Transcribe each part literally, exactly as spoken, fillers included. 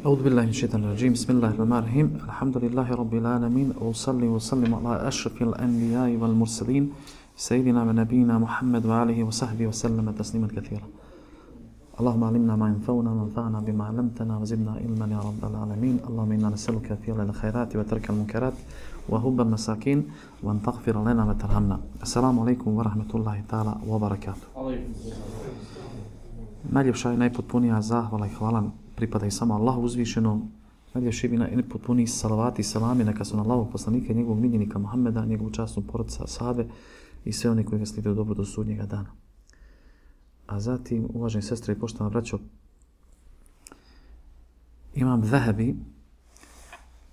أعوذ بالله من الشيطان الرجيم بسم الله الرحمن الرحيم الحمد لله رب العالمين وأصلي وسلم على أشرف الأنبياء والمرسلين سيدنا ونبينا محمد وآله وصحبه وسلم تسليما كثيرا اللهم علمنا ما ينفعنا وانفعنا بما علمتنا وزدنا علما يا رب العالمين اللهم إنا نسألك فعل الخيرات وترك المنكرات وحب المساكين وأن تغفر لنا وترحمنا السلام عليكم ورحمة الله تعالى وبركاته. Najljepša i najpotpunija zahvala i hvala pripada i samo Allahu uzvišenom. Najljepši i najpotpuniji salavati i salami neka su na Allahov poslanika i njegovog miljenika Muhammeda, njegovu časnu porodicu ashabe i sve oni koji ga slijede dobro do sudnjega dana. A zatim, uvaženi sestre i poštovana braćo, Imam Zahabi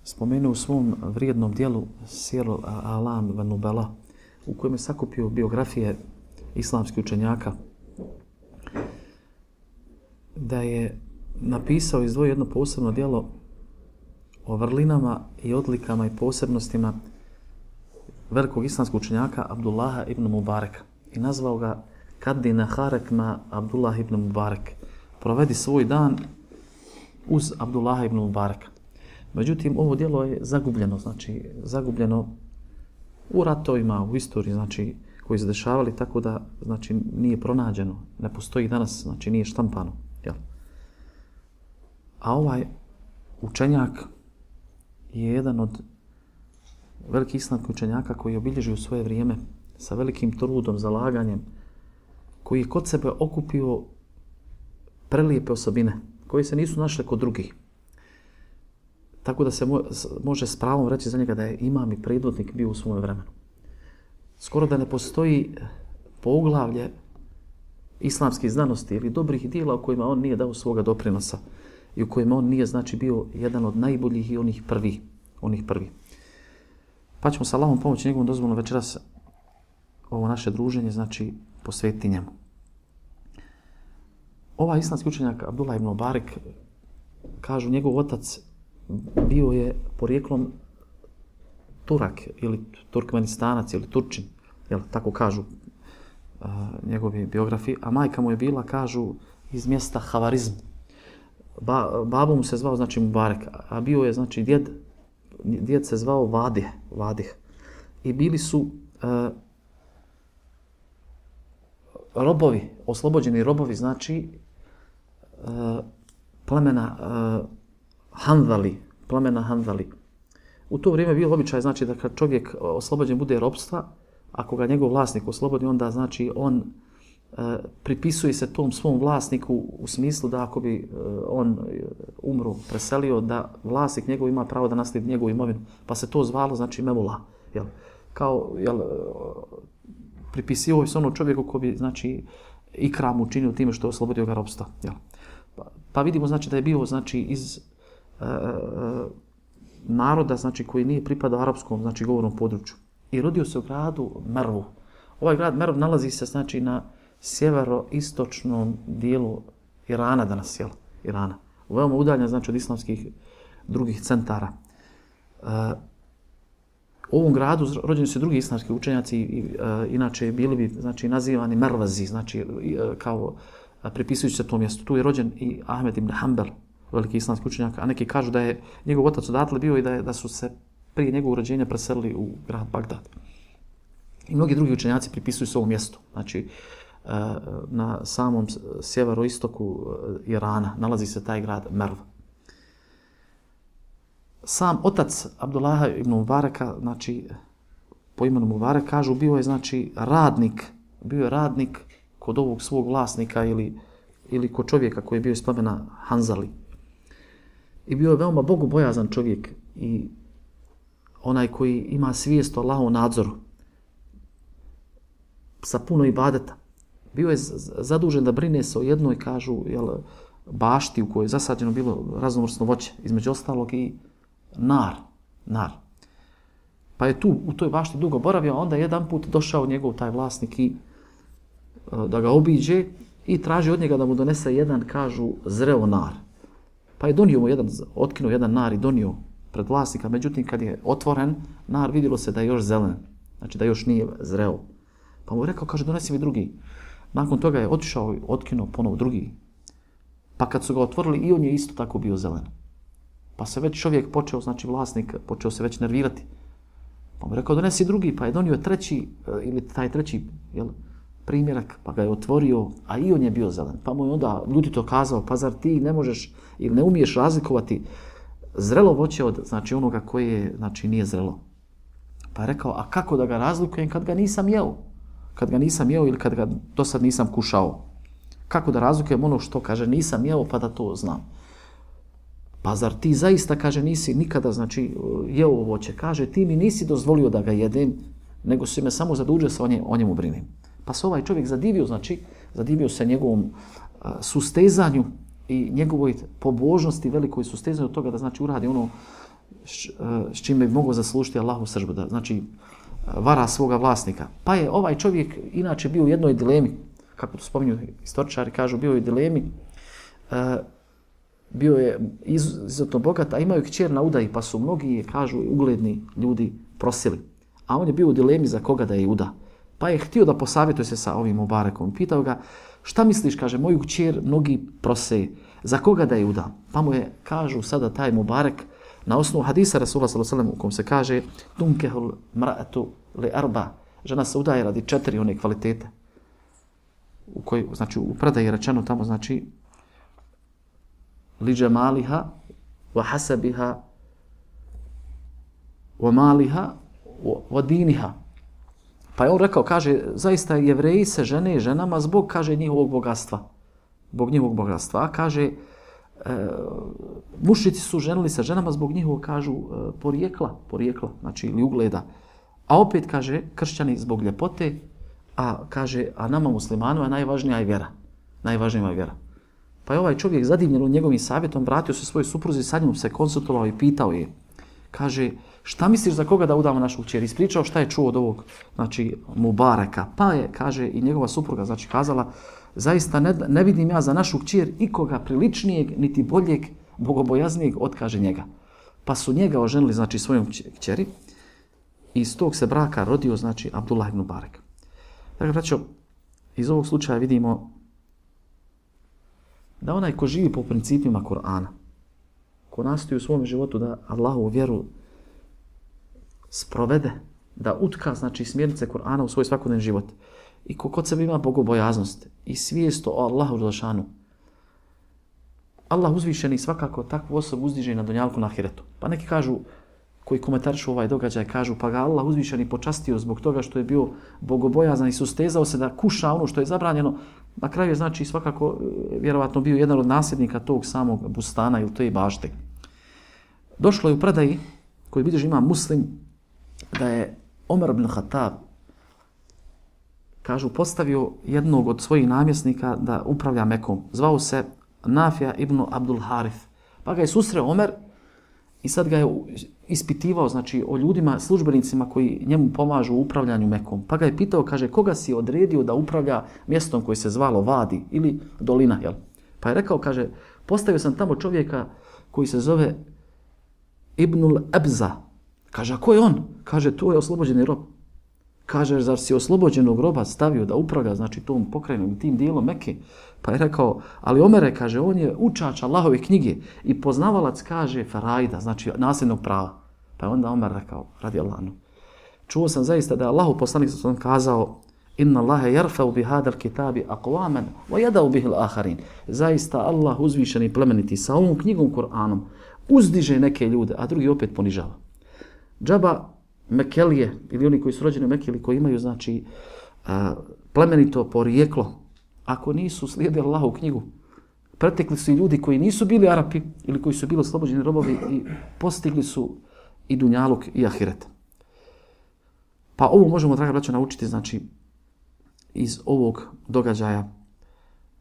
spomenuo u svom vrijednom dijelu Sir al-A'lam wa Nubala, u kojem je sakupio biografije islamskih učenjaka, da je napisao i izdvojio jedno posebno djelo o vrlinama i odlikama i posebnostima velikog islamskog učenjaka Abdullaha ibn Mubareka i nazvao ga Kaddi naharek ma Abdullah ibn Mubarek. Provedi svoj dan uz Abdullaha ibn Mubareka. Međutim, ovo djelo je zagubljeno, znači zagubljeno u ratovima, u istoriji, znači koji se dešavali, tako da znači nije pronađeno, ne postoji danas, znači nije štampano. Jel? A ovaj učenjak je jedan od velikih islamskih učenjaka koji je obilježio svoje vrijeme sa velikim trudom, zalaganjem, koji je kod sebe okupio prelijepe osobine koje se nisu našle kod drugih. Tako da se mo može s pravom reći za njega da je imam i predvodnik bio u svom vremenu. Skoro da ne postoji poglavlje islamskih znanosti ili dobrih dijela u kojima on nije dao svoga doprinosa i u kojima on nije znači bio jedan od najboljih i onih prvih, onih prvih. Pa ćemo sa Allahom pomoći njegovom dozvolom večeras ovo naše druženje znači posvetiti njemu. Ovaj islamski učenjak Abdullah ibn Mubarek, kažu njegov otac bio je porijeklom Turak ili Turkmenistanac ili Turčin, jel, tako kažu uh, njegovi biografi, a majka mu je bila, kažu, iz mjesta Havarizm. Ba, babo mu se zvao, znači Mubarek, a bio je, znači, djed, djed se zvao Vadih, Vadih. I bili su uh, robovi, oslobođeni robovi, znači, uh, plemena uh, Hanzali, plemena Hanzali. U to vrijeme bio običaj, znači, da kad čovjek oslobođen bude ropstva, ako ga njegov vlasnik oslobodi, onda, znači, on e, pripisuje se tom svom vlasniku u smislu da ako bi e, on umro, preselio, da vlasnik njegov ima pravo da naslijedi njegovu imovinu. Pa se to zvalo, znači, Mevula. Jel? Kao, jel, pripisio se ono čovjeku ko bi, znači, ikram učinio time što je oslobodio ga ropstva. Jel? Pa, pa vidimo, znači, da je bio, znači, iz e, e, naroda, znači, koji nije pripadao arapskom, znači, govornom području. I rodio se u gradu Mervu. Ovaj grad Merv nalazi se, znači, na sjeveroistočnom dijelu Irana danas, jel? Irana. Veoma udaljen, znači, od islamskih drugih centara. Uh, u ovom gradu rođeni su drugi islamski učenjaci i uh, inače bili bi, znači, nazivani Mervazi, znači, uh, kao uh, pripisujući se tom mjestu. Tu je rođen i Ahmed ibn Hanbel, veliki islamski učenjak, a neki kažu da je njegov otac odatle bio i da, je, da su se prije njegovog rođenja preselili u grad Bagdad. I mnogi drugi učenjaci pripisuju se ovom mjestu. Znači, na samom sjeveroistoku Irana nalazi se taj grad Merv. Sam otac Abdullaha ibn Mubareka, znači, po imenu Mubarek, kažu, bio je, znači, radnik, bio je radnik kod ovog svog vlasnika ili, ili kod čovjeka koji je bio iz plemena Hanzali. I bio je veoma bogobojazan čovjek i onaj koji ima svijest o Allahovom nadzoru sa puno ibadeta. Bio je zadužen da brine se o jednoj, kažu, jel, bašti u kojoj je zasađeno bilo raznovrsno voće, između ostalog i nar, nar. Pa je tu u toj bašti dugo boravio, a onda jedan put došao njegov taj vlasnik i da ga obiđe i traži od njega da mu donese jedan, kažu, zreo nar. Pa je donio mu jedan, otkinuo jedan nar i donio pred vlasnika, međutim kad je otvoren nar, vidjelo se da je još zelen, znači da još nije zreo. Pa mu je rekao, kaže, donesi mi drugi. Nakon toga je otišao i otkinuo ponovo drugi. Pa kad su ga otvorili, i on je isto tako bio zelen. Pa se već čovjek počeo, znači vlasnik, počeo se već nervirati. Pa mu rekao, donesi drugi, pa je donio treći, ili taj treći jel, primjerak, pa ga je otvorio, a i on je bio zelen. Pa mu je onda ljudi to kazao, pa zar ti ne možeš ili ne umiješ razlikovati zrelo voće od znači, onoga koje znači, nije zrelo. Pa je rekao, a kako da ga razlikujem kad ga nisam jeo? Kad ga nisam jeo ili kad ga do sad nisam kušao? Kako da razlikujem ono što, kaže, nisam jeo pa da to znam? Pa zar ti zaista, kaže, nisi nikada, znači, jeo ovo voće? Kaže, ti mi nisi dozvolio da ga jedem, nego si me samo zadužio sa o, nje, o njemu brinem. Pa se ovaj čovjek zadivio, znači, zadivio se njegovom uh, sustezanju i njegovoj pobožnosti, velikoj sustezanju od toga da, znači, uradi ono š, uh, s čime bi mogao zaslužiti Allahu sržbu, da, znači, uh, vara svoga vlasnika. Pa je ovaj čovjek inače bio u jednoj dilemi, kako to spominju istoričari, kažu, bio je u dilemi, uh, bio je izuzetno bogat, a imaju kćer na udaji, pa su mnogi, kažu, ugledni ljudi prosili. A on je bio u dilemi za koga da je uda. Pa je htio da posavjetuje se sa ovim Mubarekom. Pitao ga, šta misliš, kaže, moju kćer mnogi prose, za koga da je uda? Pa mu je, kažu sada taj Mubarek, na osnovu hadisa Rasula sallallahu alejhi ve sellem u kom se kaže tunkehul mra'atu li arba, žena se udaje radi četiri one kvalitete. U kojoj, znači, u predaji je rečeno tamo, znači, li džemaliha, wa hasabiha, wa maliha, wa diniha. Pa je on rekao, kaže, zaista Jevreji se žene ženama zbog, kaže, njihovog bogatstva. Zbog njihovog bogatstva. A kaže, e, mušnici su ženili se ženama zbog njihovog, kažu, e, porijekla, porijekla, znači, ili ugleda. A opet, kaže, kršćani zbog ljepote, a kaže, a nama muslimanima najvažnija je vjera. Najvažnija je vjera. Pa je ovaj čovjek zadivljen njegovim savjetom, vratio se svojoj supruzi, sa njom se konsultovao i pitao je. Kaže, šta misliš za koga da udamo našu kćer? Ispričao šta je čuo od ovog, znači, Mubareka. Pa je, kaže, i njegova supruga, znači, kazala, zaista ne, ne vidim ja za našu kćer ikoga priličnijeg, niti boljeg, bogobojaznijeg od, kaže, njega. Pa su njega oženili, znači, svojom kćeri i iz tog se braka rodio, znači, Abdullah ibn Mubarek. Dakle, braćo, iz ovog slučaja vidimo da onaj ko živi po principima Kur'ana, ko nastoji u svom životu da Allahu vjeru sprovede, da utka, znači, smjernice Kur'ana u svoj svakodnevni život i ko kod sebe ima bogobojaznost i svijest o Allahu dželešanu, Allah uzvišeni svakako takvu osobu uzdiže na dunjalku na ahiretu. Pa neki kažu, koji komentarišu ovaj događaj, kažu, pa ga Allah uzvišeni počastio zbog toga što je bio bogobojazan i sustezao se da kuša ono što je zabranjeno. Na kraju je, znači, svakako vjerovatno bio jedan od nasljednika tog samog bustana ili te bašte. Došlo je u predaji koji bilježi ima Muslim da je Omer ibn Khattab, kažu, postavio jednog od svojih namjesnika da upravlja Mekom. Zvao se Nafija ibn Abdul Harith. Pa ga je susreo Omer i sad ga je ispitivao, znači, o ljudima, službenicima koji njemu pomažu u upravljanju Mekom. Pa ga je pitao, kaže, koga si odredio da upravlja mjestom koji se zvalo Vadi ili Dolina, jel? Pa je rekao, kaže, postavio sam tamo čovjeka koji se zove Ibnul Ebza. Kaže, a ko je on? Kaže, to je oslobođeni rob. Kaže, zar si oslobođenog roba stavio da upravlja, znači, tom pokrajinom, tim dijelom Mekke? Pa je rekao, ali Omere, kaže, on je učač Allahove knjige i poznavalac, kaže, Faraida, znači, nasljednog prava. Pa je onda Omer rekao, radi Allahanu, čuo sam zaista da je Allahu poslanik sam kazao, inna Allahe jarfau bi hadal kitabi aqwaman wa yadau bihi al-akharin. Zaista Allah uzvišeni i plemeniti sa ovom knjigom Kur'anom uzdiže neke ljude, a drugi opet ponižava. Džaba Mekelije, ili oni koji su rođeni u Mekke, ili koji imaju, znači, a, plemenito porijeklo, ako nisu slijedili Allahovu knjigu, pretekli su i ljudi koji nisu bili Arapi, ili koji su bili oslobođeni robovi i postigli su i dunjaluk i ahiret. Pa ovo možemo, draga braćo, naučiti, znači, iz ovog događaja,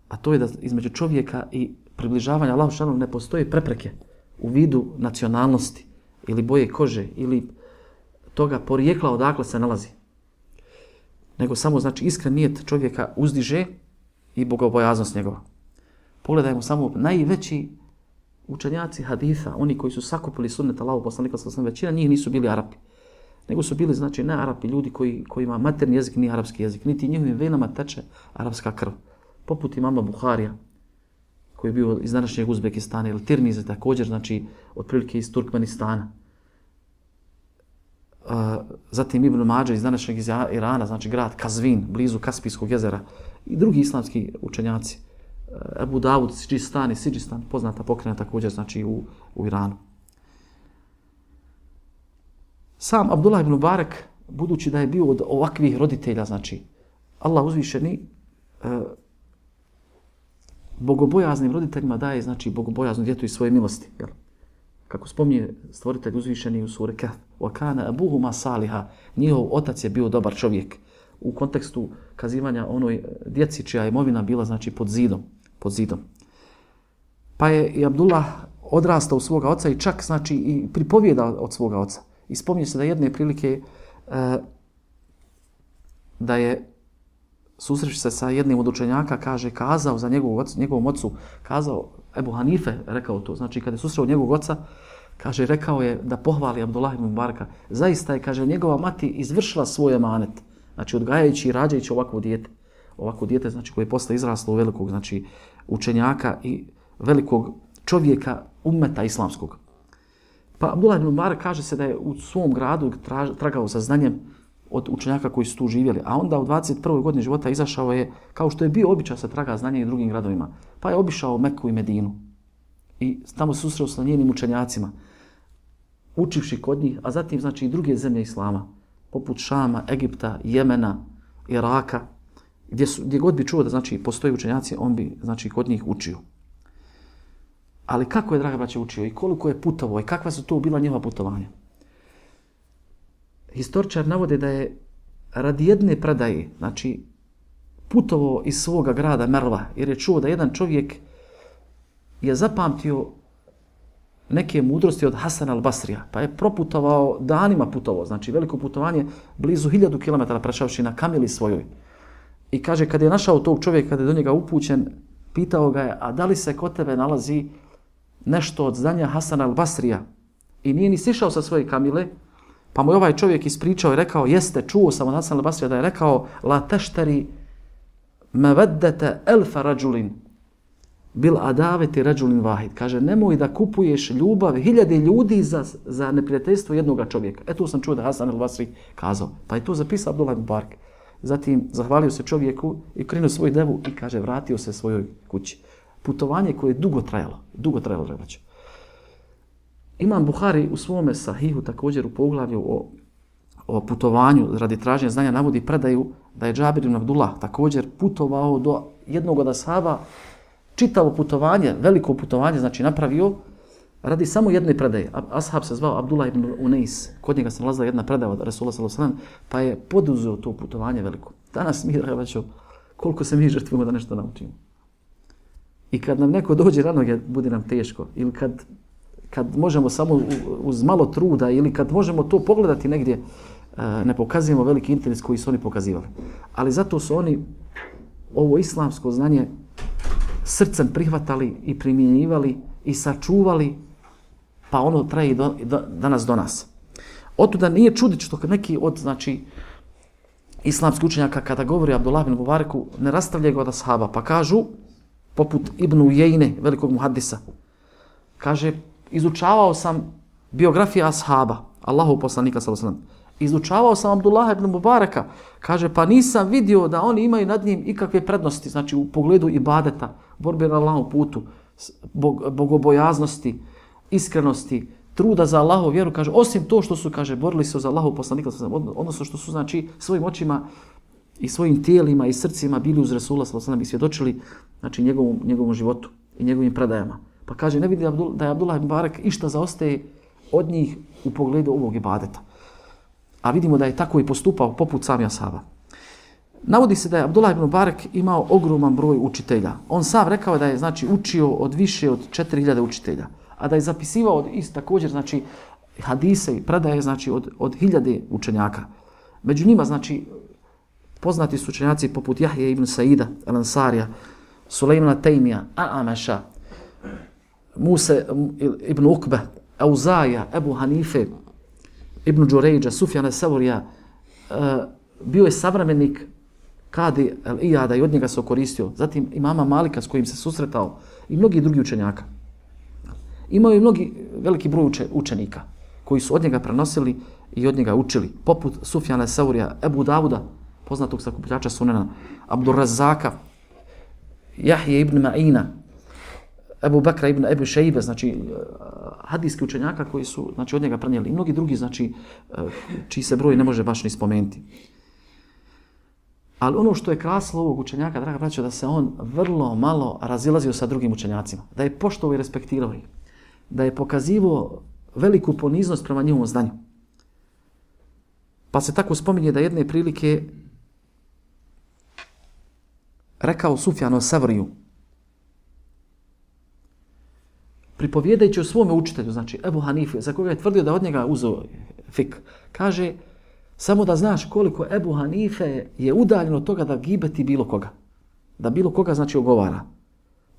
a to je da između čovjeka i približavanja Allahu dželešanu ne postoje prepreke u vidu nacionalnosti ili boje kože ili toga porijekla odakle se nalazi. Nego samo, znači, iskren nijet čovjeka uzdiže i bogobojaznost njegova. Pogledajmo samo najveći učenjaci haditha, oni koji su sakupili sunnet Allahu poslanika sallallahu alejhi ve sellem, većina njih nisu bili Arapi. Nego su bili, znači, ne Arapi, ljudi koji, koji ima materni jezik, ni arapski jezik, niti njihovim venama teče arapska krv. Poput imama Buharija, koji je bio iz današnjeg Uzbekistana, ili Tirmizi također, znači otprilike iz Turkmenistana. Uh, zatim Ibn Mađe iz današnjeg iz Irana, znači grad Kazvin, blizu Kaspijskog jezera, i drugi islamski učenjaci. Uh, Ebu Davud, Sidžistan i Sidžistan, poznata pokrajina također, znači u, u Iranu. Sam Abdullah ibn Mubarak, budući da je bio od ovakvih roditelja, znači Allah uzvišeni uh, bogobojaznim roditeljima daje, znači bogobojaznu djetu iz svoje milosti, jel? Kako spominje stvoritelj uzvišeni u suri Kahf, وَكَانَ أَبُوهُمَا صَالِحًا, njihov otac je bio dobar čovjek, u kontekstu kazivanja onoj djeci čija je imovina bila, znači pod zidom, pod zidom. Pa je i Abdullah odrastao u svoga oca i čak, znači, i pripovijeda od svoga oca. I spominje se da jedne prilike e, da je susreći se sa jednim od učenjaka, kaže, kazao za njegovu ocu, njegovom ocu, kazao, Ebu Hanife rekao to, znači kada je susreo njegovog oca, kaže, rekao je da pohvali Abdullah ibn Mubaraka. Zaista je, kaže, njegova mati izvršila svoj emanet, znači odgajajući i rađajući ovakvo dijete. Ovakvo dijete, znači koje je posle izraslo u velikog, znači učenjaka i velikog čovjeka ummeta islamskog. Pa Abdullah ibn Mubarak kaže se da je u svom gradu tragao za znanjem od učenjaka koji su tu živjeli, a onda u dvadeset prvoj godini života izašao je, kao što je bio običaj, se traga znanje i drugim gradovima. Pa je obišao Meku i Medinu i tamo se susreo sa njenim učenjacima, učivši kod njih, a zatim, znači, i druge zemlje Islama, poput Šama, Egipta, Jemena, Iraka, gdje, su, gdje god bi čuo da, znači, postoji učenjaci, on bi, znači, kod njih učio. Ali kako je, draga braće, učio i koliko je putovao i kakva su to bila njegova putovanja? Historičar navode da je radi jedne predaje, znači, putovao iz svoga grada Merva, jer je čuo da jedan čovjek je zapamtio neke mudrosti od Hasan al-Basrija, pa je proputovao, danima putovao, znači veliko putovanje, blizu hiljadu kilometara prešavši na kamili svojoj. I kaže, kad je našao tog čovjeka, kada je do njega upućen, pitao ga je, a da li se kod tebe nalazi nešto od znanja Hasan al-Basrija? I nije ni sišao sa svoje kamile, pa mu je ovaj čovjek ispričao i rekao, jeste, čuo sam od Hasan al-Basrija da je rekao, la teštari meveddete elfa rađulin, bil adaveti rađulin vahid. Kaže, nemoj da kupuješ ljubav hiljade ljudi za, za neprijateljstvo jednoga čovjeka. E tu sam čuo da Hasan al-Basri kazao. Pa je to zapisao Abdullah ibn Mubarak. Zatim zahvalio se čovjeku i krenuo svoju devu i kaže, vratio se svojoj kući. Putovanje koje je dugo trajalo. Dugo trajalo, rebaću. Imam Buhari u svome sahihu također u poglavlju o, o putovanju radi traženja znanja navodi predaju da je Džabir ibn Abdullah također putovao do jednog od ashaba, čitavo putovanje, veliko putovanje, znači napravio radi samo jedne predaje. Ashab se zvao Abdullah ibn Unais, kod njega se nalazila jedna predaja od Resula sallallahu alejhi ve sellem, pa je poduzeo to putovanje veliko. Danas mi, rebaću, koliko se mi žrtvujemo da nešto naučimo. I kad nam neko dođe rano, bude nam teško. Ili kad, kad možemo samo uz malo truda, ili kad možemo to pogledati negdje, ne pokazujemo veliki interes koji su oni pokazivali. Ali zato su oni ovo islamsko znanje srcem prihvatali i primjenjivali i sačuvali, pa ono traje do, do, danas do nas. Otuda nije čudit što neki od, znači, islamskih učenjaka kada govori Abdullah ibn Mubaraku, ne rastavljaju ga od ashaba, pa kažu, poput Ibn Ujejne, velikog muhaddisa, kaže, izučavao sam biografije ashaba, Allahov poslanika sallallahu alejhi ve sellem. Izučavao sam Abdullah ibn Mubaraka, kaže, pa nisam vidio da oni imaju nad njim ikakve prednosti, znači u pogledu ibadeta, borbe na Allahovom putu, bog, bogobojaznosti, iskrenosti, truda za Allahovu vjeru, kaže, osim to što su, kaže, borili se za Allahov poslanika, odnosno što su, znači, svojim očima i svojim tijelima i srcima bili uz Resula sallallahu alejhi ve sellem i svjedočili, znači, njegovom, njegovom životu i njegovim predajama. Pa kaže, ne vidi da je Abdullah ibn Mubarak išta zaostaje od njih u pogledu ovog ibadeta. A vidimo da je tako i postupao poput sami ashaba. Navodi se da je Abdullah ibn Mubarak imao ogroman broj učitelja. On sam rekao da je, znači, učio od više od četiri hiljade učitelja, a da je zapisivao od ist također, znači, hadise i predaje, znači, od, od hiljade učenjaka. Među njima, znači, poznati su učenjaci poput Jahje ibn Saida, Al-Ansarija, Sulejmana Tejmija, A'ameša, Muse ibn Ukbe, Auzaja, Ebu Hanife, Ibn Đurejđa, Sufjana Sevorija, uh, bio je savremenik Kadi el-Ijada i od njega se okoristio. Zatim imama Malika s kojim se susretao i mnogi drugi učenjaka. Imao je mnogi veliki broj uče, učenika koji su od njega prenosili i od njega učili. Poput Sufjana Saurija, Ebu Davuda, poznatog sakupljača Sunena, Abdurrazaka, Jahje ibn Ma'ina, Ebu Bakra ibn Ebu Šejbe, znači hadijski učenjaka koji su znači, od njega prenijeli. I mnogi drugi, znači, čiji se broj ne može baš ni spomenuti. Ali ono što je krasilo ovog učenjaka, draga braćo, da se on vrlo malo razilazio sa drugim učenjacima. Da je poštovao i respektirao ih. Da je pokazivao veliku poniznost prema njihovom znanju. Pa se tako spominje da jedne prilike rekao Sufjanu Savriju, pripovjedajući o svome učitelju, znači Ebu Hanife, za koga je tvrdio da od njega uzeo fik, kaže, samo da znaš koliko Ebu Hanife je udaljen od toga da gibeti bilo koga. Da bilo koga, znači, ogovara.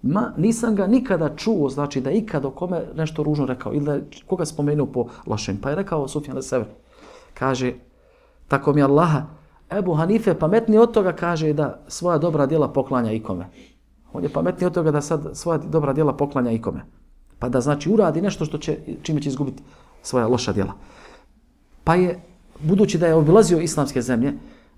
Ma, nisam ga nikada čuo, znači, da ikada o kome nešto ružno rekao ili da je koga spomenuo po lošem. Pa je rekao Sufjan Sever, kaže, tako mi Allaha, Ebu Hanife pametniji od toga, kaže, da svoja dobra djela poklanja ikome. On je pametniji od toga da sad svoja dobra djela poklanja ikome. Pa da, znači, uradi nešto što će, čime će izgubiti svoja loša djela. Pa je, budući da je obilazio islamske zemlje,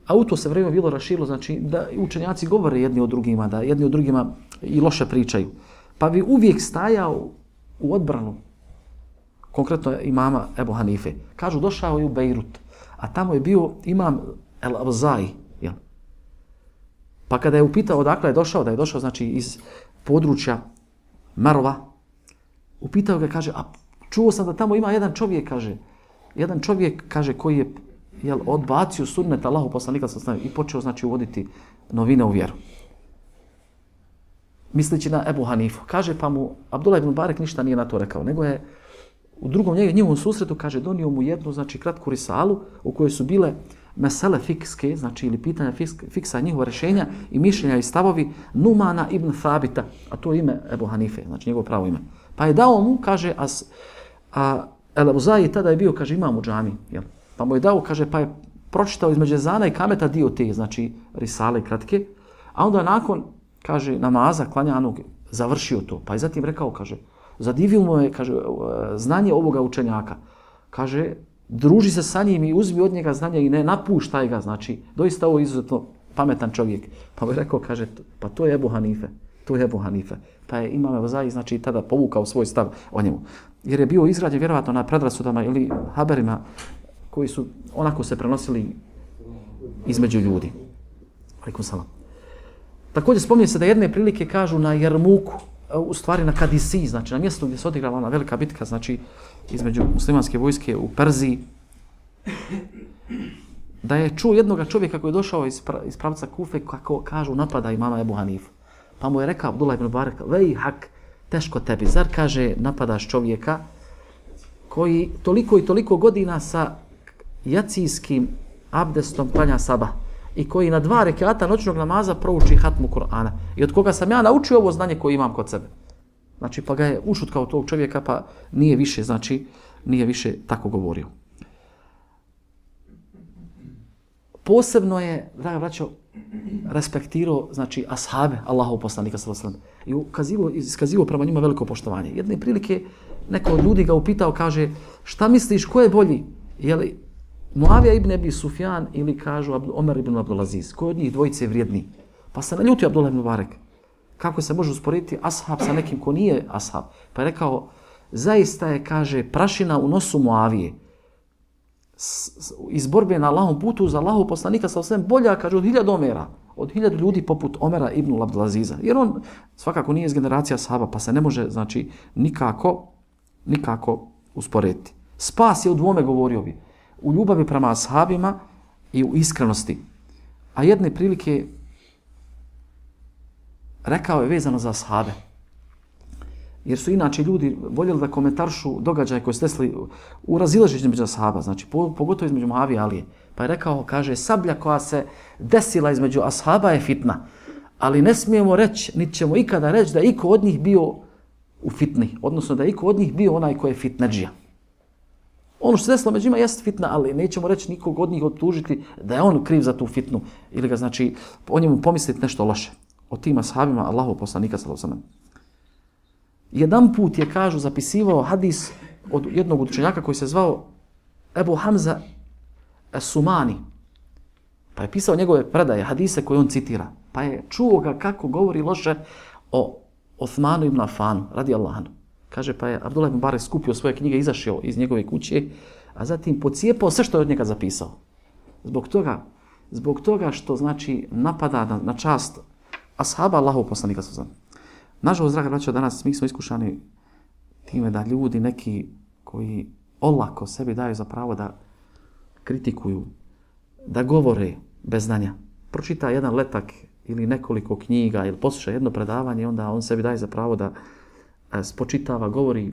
a u to se vrijeme bilo rašilo, znači da učenjaci govore jedni o drugima, da jedni o drugima i loše pričaju. Pa bi uvijek stajao u odbranu, konkretno imama Ebu Hanife. Kažu, došao je u Bejrut, a tamo je bio imam El-Avzai. Pa kada je upitao odakle je došao, da je došao znači iz područja Marova, upitao ga, kaže, a čuo sam da tamo ima jedan čovjek, kaže, jedan čovjek, kaže, koji je jel, odbacio sunnet Allahu poslanika i počeo, znači, uvoditi novine u vjeru. Misleći na Ebu Hanifu. Kaže, pa mu Abdullah ibn Barek ništa nije na to rekao, nego je u drugom njegovom susretu, kaže, donio mu jednu, znači, kratku risalu u kojoj su bile mesele fikske, znači, ili pitanja fikska, fiksa njihova rješenja i mišljenja i stavovi Numana ibn Thabita, a to je ime Ebu Hanife, znači njegovo pravo ime. Pa je dao mu, kaže, a, a El-Avzai tada je bio, kaže, imam u džami, jel? Pa mu je dao, kaže, pa je pročitao između ezana i kameta dio te, znači, risale kratke, a onda nakon, kaže, namaza klanjanog završio to. Pa je zatim rekao, kaže, zadivio mu je, kaže, znanje ovoga učenjaka. Kaže, druži se sa njim i uzmi od njega znanje i ne napuštaj ga, znači, doista ovo izuzetno pametan čovjek. Pa je rekao, kaže, pa to je Ebu Hanife, to je Ebu Hanife. Pa je imam Evzai, znači, tada povukao svoj stav o njemu. Jer je bio izgrađen vjerovatno na predrasudama ili haberima koji su onako se prenosili između ljudi. Alejkum selam. Također spominje se da jedne prilike kažu na Jermuku, u stvari na Kadisi, znači na mjestu gdje se odigrala ona velika bitka, znači između muslimanske vojske u Perziji, da je čuo jednoga čovjeka koji je došao iz, pra, iz pravca Kufe, kako kažu napada imama Ebu Hanifu. Pa mu je rekao Abdullah ibn Barek, vej hak, teško tebi, zar, kaže, napadaš čovjeka koji toliko i toliko godina sa jacijskim abdestom klanja sabah i koji na dva rekata noćnog namaza prouči hatmu Kur'ana i od koga sam ja naučio ovo znanje koje imam kod sebe. Znači, pa ga je ušutkao tog čovjeka, pa nije više, znači, nije više tako govorio. Posebno je, draga braćo, respektirao, znači, ashabe Allahov poslanika sallallahu alejhi ve sellem i ukazivao, iskazivao prema njima veliko poštovanje. Jedne prilike neko od ljudi ga upitao, kaže, šta misliš, ko je bolji? Je li Muavija ibn Abi Sufjan ili kažu Omer ibn Abdulaziz? Ko od njih dvojice je vrijedniji? Pa se naljutio Abdullah ibn Barek. Kako se može usporediti ashab sa nekim ko nije ashab? Pa je rekao, zaista je, kaže, prašina u nosu Muavije iz borbe na Allahom putu za Allahov poslanika sa osvijem bolja, kaže, od hiljadu Omera, od hiljadu ljudi poput Omera ibn Abdulaziza. Jer on svakako nije iz generacija ashaba, pa se ne može, znači, nikako, nikako usporediti. Spas je u dvome, govorio bi, u ljubavi prema ashabima i u iskrenosti. A jedne prilike rekao je vezano za ashabe. Jer su inače ljudi voljeli da komentaršu događaje koje se desili u razilaženju među ashaba, znači pogotovo između Muavije i Alije. Pa je rekao, kaže, sablja koja se desila između ashaba je fitna, ali ne smijemo reći, niti ćemo ikada reći da je iko od njih bio u fitni, odnosno da je iko od njih bio onaj koji je fitnedžija. Ono što se desilo među njima jest fitna, ali nećemo reći nikog od njih optužiti da je on kriv za tu fitnu ili ga znači o njemu pomisliti nešto loše. O tim ashabima Allahov poslanika sallallahu alejhi ve sellem. Jedan put je, kažu, zapisivao hadis od jednog učenjaka koji se zvao Ebu Hamza As-Sumani. Pa je pisao njegove predaje, hadise koje on citira. Pa je čuo ga kako govori loše o Osmanu ibn Affanu, radijallahu anhu. Kaže, pa je Abdullah ibn Barek skupio svoje knjige, izašao iz njegove kuće, a zatim pocijepao sve što je od njega zapisao. Zbog toga, zbog toga što znači napada na, na čast ashaba Allahov poslanika sallallahu alejhi ve sellem. Nažalost, draga braćo, danas mi smo iskušani time da ljudi neki koji olako sebi daju za pravo da kritikuju, da govore bez znanja. Pročita jedan letak ili nekoliko knjiga ili posluša jedno predavanje, onda on sebi daje za pravo da spočitava, govori,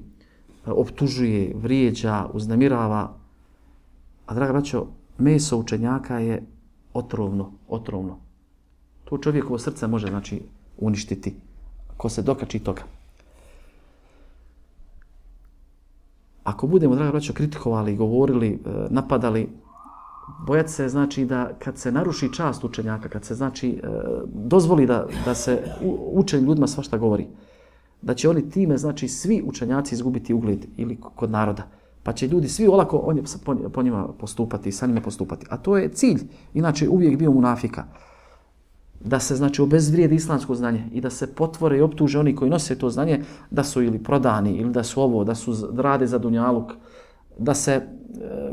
optužuje, vrijeđa, uznemirava. A draga braćo, meso učenjaka je otrovno, otrovno. To čovjekovo srce može znači uništiti ko se dokači toga. Ako budemo, draga braćo, kritikovali, govorili, napadali, bojati se znači da kad se naruši čast učenjaka, kad se znači dozvoli da, da se učenim ljudima svašta govori, da će oni time, znači, svi učenjaci izgubiti ugled ili kod naroda. Pa će ljudi svi olako on po njima postupati, sa njima postupati. A to je cilj, inače uvijek bio munafika. Da se, znači, obezvrijedi islamsko znanje i da se potvore i optuže oni koji nose to znanje da su ili prodani, ili da su ovo, da su da rade za dunjaluk, da se e,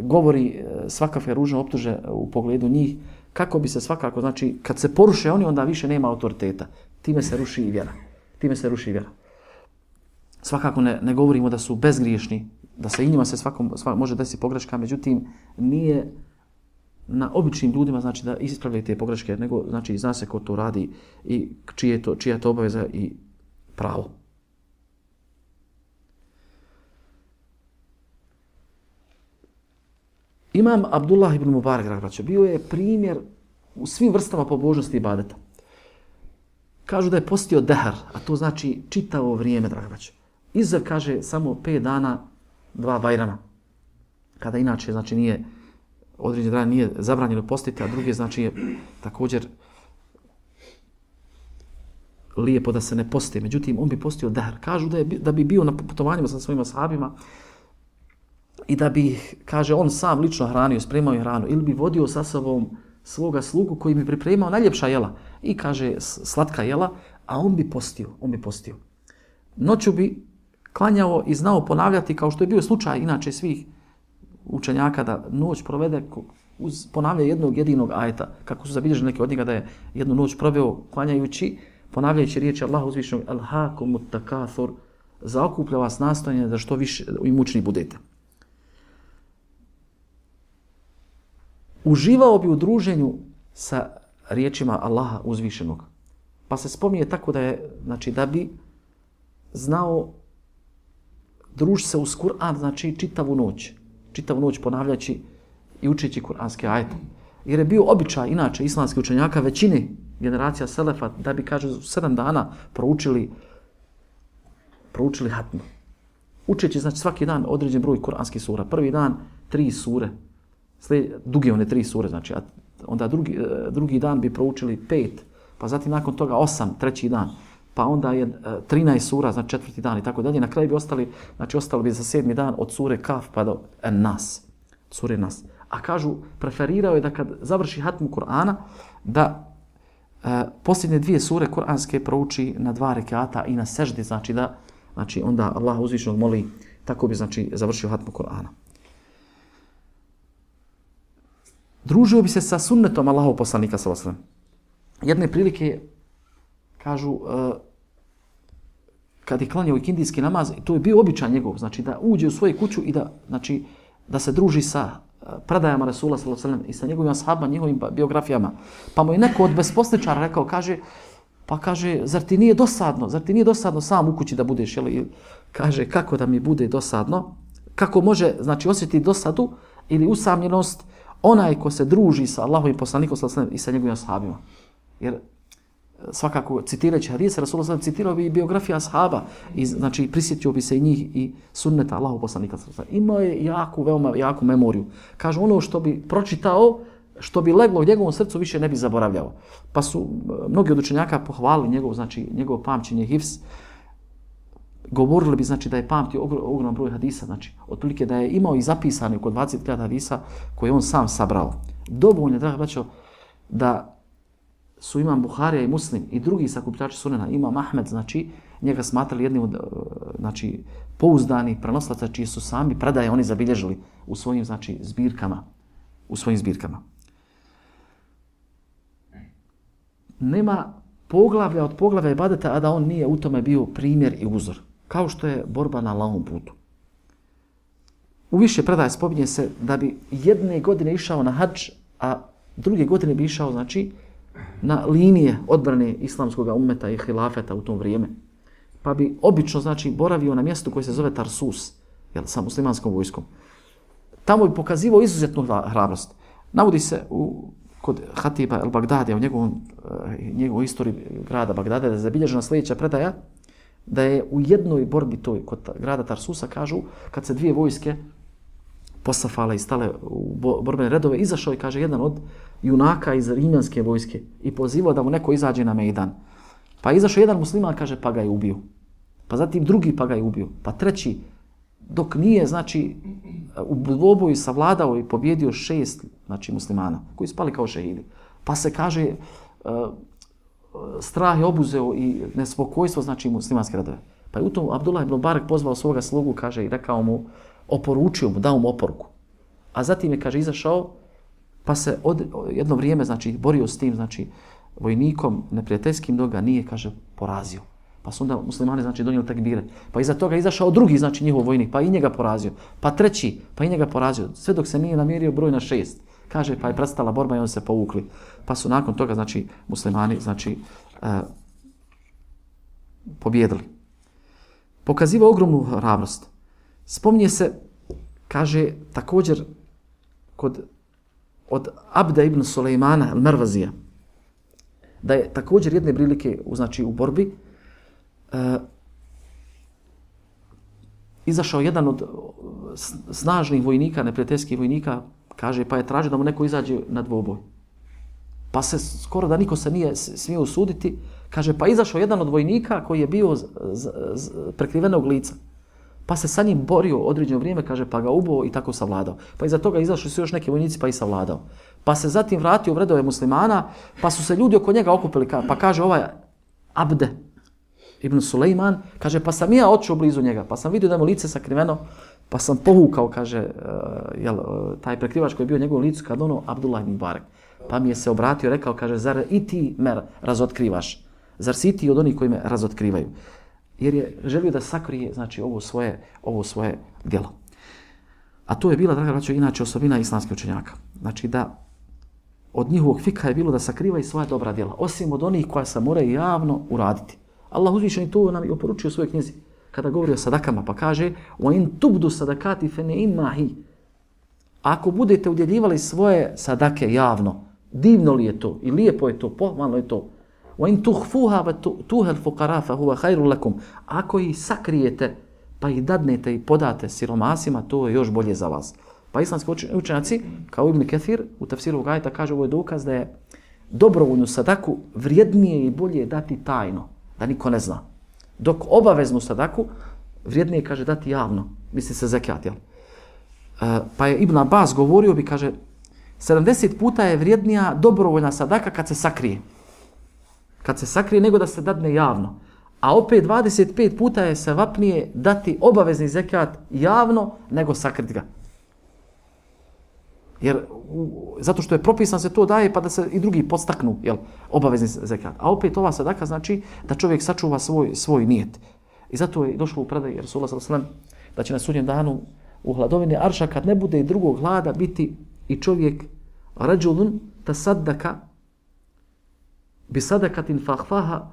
govori e, svakakve ružne optuže u pogledu njih, kako bi se svakako, znači, kad se poruše oni, onda više nema autoriteta. Time se ruši i vjera. Time se ruši i vjera. Svakako ne, ne govorimo da su bezgriješni, da se i njima se svakom, svakom može desiti pogreška, međutim, nije na običnim ljudima znači da ispravljaju te pogreške, nego znači zna se ko to radi i čije je to, čija je to obaveza i pravo. Imam Abdullah ibn Mubarak, braćo, bio je primjer u svim vrstama pobožnosti i ibadeta. Kažu da je postio dehar, a to znači čitavo vrijeme, draga braćo. Izuzev, kaže, samo pet dana, dva bajrama. Kada inače, znači, nije određen dan, nije zabranjeno postiti, a druge, znači, je također lijepo da se ne posti. Međutim, on bi postio dehar. Kažu da, je, da bi bio na putovanjima sa svojima sahabima i da bi, kaže, on sam lično hranio, spremao je hranu, ili bi vodio sa sobom svoga slugu koji bi pripremao najljepša jela i, kaže, slatka jela, a on bi postio, on bi postio. Noću bi klanjao i znao ponavljati, kao što je bio slučaj inače svih učenjaka, da noć provede uz ponavljanje jednog jedinog ajeta, kako su zabilježili neki od njega da je jednu noć proveo klanjajući, ponavljajući riječi Allaha uzvišenog Alhaakumut takathur, zaokuplja vas nastojanje da što više i mučni budete. Uživao bi u druženju sa riječima Allaha uzvišenog. Pa se spominje tako da je, znači, da bi znao družiti se uz Kur'an, znači čitavu noć. Čitavu noć ponavljajući i učeći kur'anske ajete. Jer je bio običaj, inače, islamskih učenjaka, većine generacija selefa, da bi, kaže, sedam dana proučili, proučili hatmu. Učeći, znači, svaki dan određen broj kur'anskih sura. Prvi dan, tri sure. Slijed, duge one tri sure, znači, a onda drugi, drugi dan bi proučili pet, pa zatim nakon toga osam, treći dan, pa onda je trinaest sura, znači četvrti dan i tako dalje. Na kraju bi ostali, znači ostali bi za sedmi dan od sure Kaf pa do Nas, sure Nas. A kažu, preferirao je da kad završi hatmu Kur'ana, da e, posljednje dvije sure kur'anske prouči na dva rekata i na seždi, znači da, znači onda Allah uzvišenog moli, tako bi, znači, završio hatmu Kur'ana. Družio bi se sa sunnetom Allahov poslanika sallallahu alejhi ve sellem. Jedne prilike, kažu, uh, kad je klanjao ikindijski namaz, to je bio običaj njegov, znači da uđe u svoju kuću i da, znači, da se druži sa uh, predajama Rasula sallallahu alejhi ve sellem i sa njegovim ashabima, njegovim biografijama. Pa mu je neko od besposličara rekao, kaže, pa kaže, zar ti nije dosadno, zar ti nije dosadno sam u kući da budeš, jel? Kaže, kako da mi bude dosadno? Kako može, znači, osjetiti dosadu ili usamljenost onaj ko se druži sa Allahovim poslanikom sallallahu alejhi ve sellem i sa njegovim ashabima? Jer svakako citirajući hadise, Rasulullah sallallahu alejhi ve sellem citirao bi biografija ashaba, i znači prisjetio bi se i njih i sunneta Allahov poslanika sallallahu alejhi ve sellem. Imao je jaku, veoma jaku memoriju. Kaže, ono što bi pročitao, što bi leglo u njegovom srcu, više ne bi zaboravljao. Pa su mnogi od učenjaka pohvalili njegov, znači, njegov pamćenje, hifz. Govorili bi, znači, da je pamtio ogroman broj hadisa, znači, otprilike da je imao i zapisani oko dvadeset hiljada hadisa koje on sam sabrao. Dovoljno, draga braćo, da su Imam Buharija i Muslim i drugi sakupljači sunena, Imam Ahmed, znači, njega smatrali jednim od, znači, pouzdanih prenoslaca čiji su sami predaje oni zabilježili u svojim, znači, zbirkama. U svojim zbirkama. Nema poglavlja od poglavlja ibadeta, a da on nije u tome bio primjer i uzor. Kao što je borba na Allahovom putu. U više predaje spominje se da bi jedne godine išao na hadž, a druge godine bi išao, znači, na linije odbrane islamskog ummeta i hilafeta u tom vrijeme. Pa bi obično, znači, boravio na mjestu koje se zove Tarsus, jel, sa muslimanskom vojskom. Tamo bi pokazivao izuzetnu hrabrost. Navodi se u, kod Hatiba el-Bagdadija u njegovom, njegovoj istoriji grada Bagdada, da je zabilježena sljedeća predaja, da je u jednoj borbi toj kod grada Tarsusa, kažu, kad se dvije vojske posafale i stale u borbene redove, izašao je, kaže, jedan od junaka iz rimljanske vojske i pozivao da mu neko izađe na mejdan. Pa izašao jedan musliman, kaže, pa ga je ubio. Pa zatim drugi, pa ga je ubio. Pa treći, dok nije, znači, u dvoboju savladao i pobjedio šest, znači, muslimana koji spali kao šehidi. Pa se, kaže, strah je obuzeo i nespokojstvo, znači, muslimanske redove. Pa je u tom Abdullah ibn Mubarak pozvao svoga slugu, kaže, i rekao mu, oporučio mu, dao mu oporuku. A zatim je, kaže, izašao, pa se od, jedno vrijeme, znači, borio s tim, znači, vojnikom neprijateljskim, dok ga nije, kaže, porazio. Pa su onda muslimani, znači, donijeli tekbire. Pa iza toga izašao drugi, znači, njihov vojnik, pa i njega porazio. Pa treći, pa i njega porazio. Sve dok se nije namjerio broj na šest. Kaže, pa je prestala borba i oni se povukli. Pa su nakon toga, znači, muslimani, znači, uh, pobjedili. Pokaziva ogromnu hrabrost. Spominje se, kaže, također, kod, od Abda ibn Sulejmana al-Mervazija, da je također jedne prilike, znači, u borbi, Uh, izašao jedan od snažnih vojnika, neprijateljskih vojnika, kaže, pa je tražio da mu neko izađe na dvoboj. Pa se skoro da niko se nije smio usuditi, kaže, pa izašao jedan od vojnika koji je bio z, z, z, prekrivenog lica. Pa se sa njim borio određeno vrijeme, kaže, pa ga ubo i tako savladao. Pa iza toga izašli su još neki vojnici pa i savladao. Pa se zatim vratio u redove muslimana, pa su se ljudi oko njega okupili, pa kaže ovaj Abde ibn Sulejman, kaže, pa sam ja odšao blizu njega, pa sam vidio da mu lice sakriveno, pa sam povukao, kaže, uh, jel, uh, taj prekrivač koji je bio u njegovom licu, kad ono, Abdullah ibn Mubarak. Pa mi je se obratio, rekao, kaže, zar i ti me razotkrivaš? Zar si ti od onih koji me razotkrivaju? Jer je želio da sakrije, znači, ovo svoje, ovo svoje djelo. A to je bila, draga braćo, inače osobina islamskih učenjaka. Znači, da od njihovog fika je bilo da sakrivaju svoja dobra djela, osim od onih koja se moraju javno uraditi. Allah uzvišeni to nam je oporučio u svojoj knjizi kada govori o sadakama, pa kaže وَإِنْ تُبْدُ صَدَكَاتِ فَنِئِمَّهِ. Ako budete udjeljivali svoje sadake javno, divno li je to i lijepo je to, pohvalno je to. وَإِنْ تُخْفُوهَا وَتُوهَ الْفُقَرَا فَهُوَ خَيْرٌ لَكُمْ. Ako ih sakrijete pa ih dadnete i podate siromasima, to je još bolje za vas. Pa islamski učenjaci, kao Ibn Kathir u tafsiru ovog ajeta, kaže, ovo je dokaz da je dobrovoljnu sadaku vrijednije i bolje dati tajno, da niko ne zna. Dok obaveznu sadaku vrijednije, kaže, dati javno, misli se zekijat, jel? E, pa je Ibn Abbas govorio bi, kaže, sedamdeset puta je vrijednija dobrovoljna sadaka kad se sakrije. Kad se sakrije nego da se dadne javno. A opet dvadeset pet puta je sevapnije dati obavezni zekijat javno nego sakriti ga. Jer, u, zato što je propisan se to daje pa da se i drugi podstaknu, jel, obavezni zekijat. A opet ova sadaka znači da čovjek sačuva svoj, svoj nijet. I zato je došlo u predaj Rasulullah sallallahu alejhi ve sellem da će na sudnjem danu u hladovini arša, kad ne bude drugog hlada, biti i čovjek rađulun tasaddaka bi sadakatin fahfaha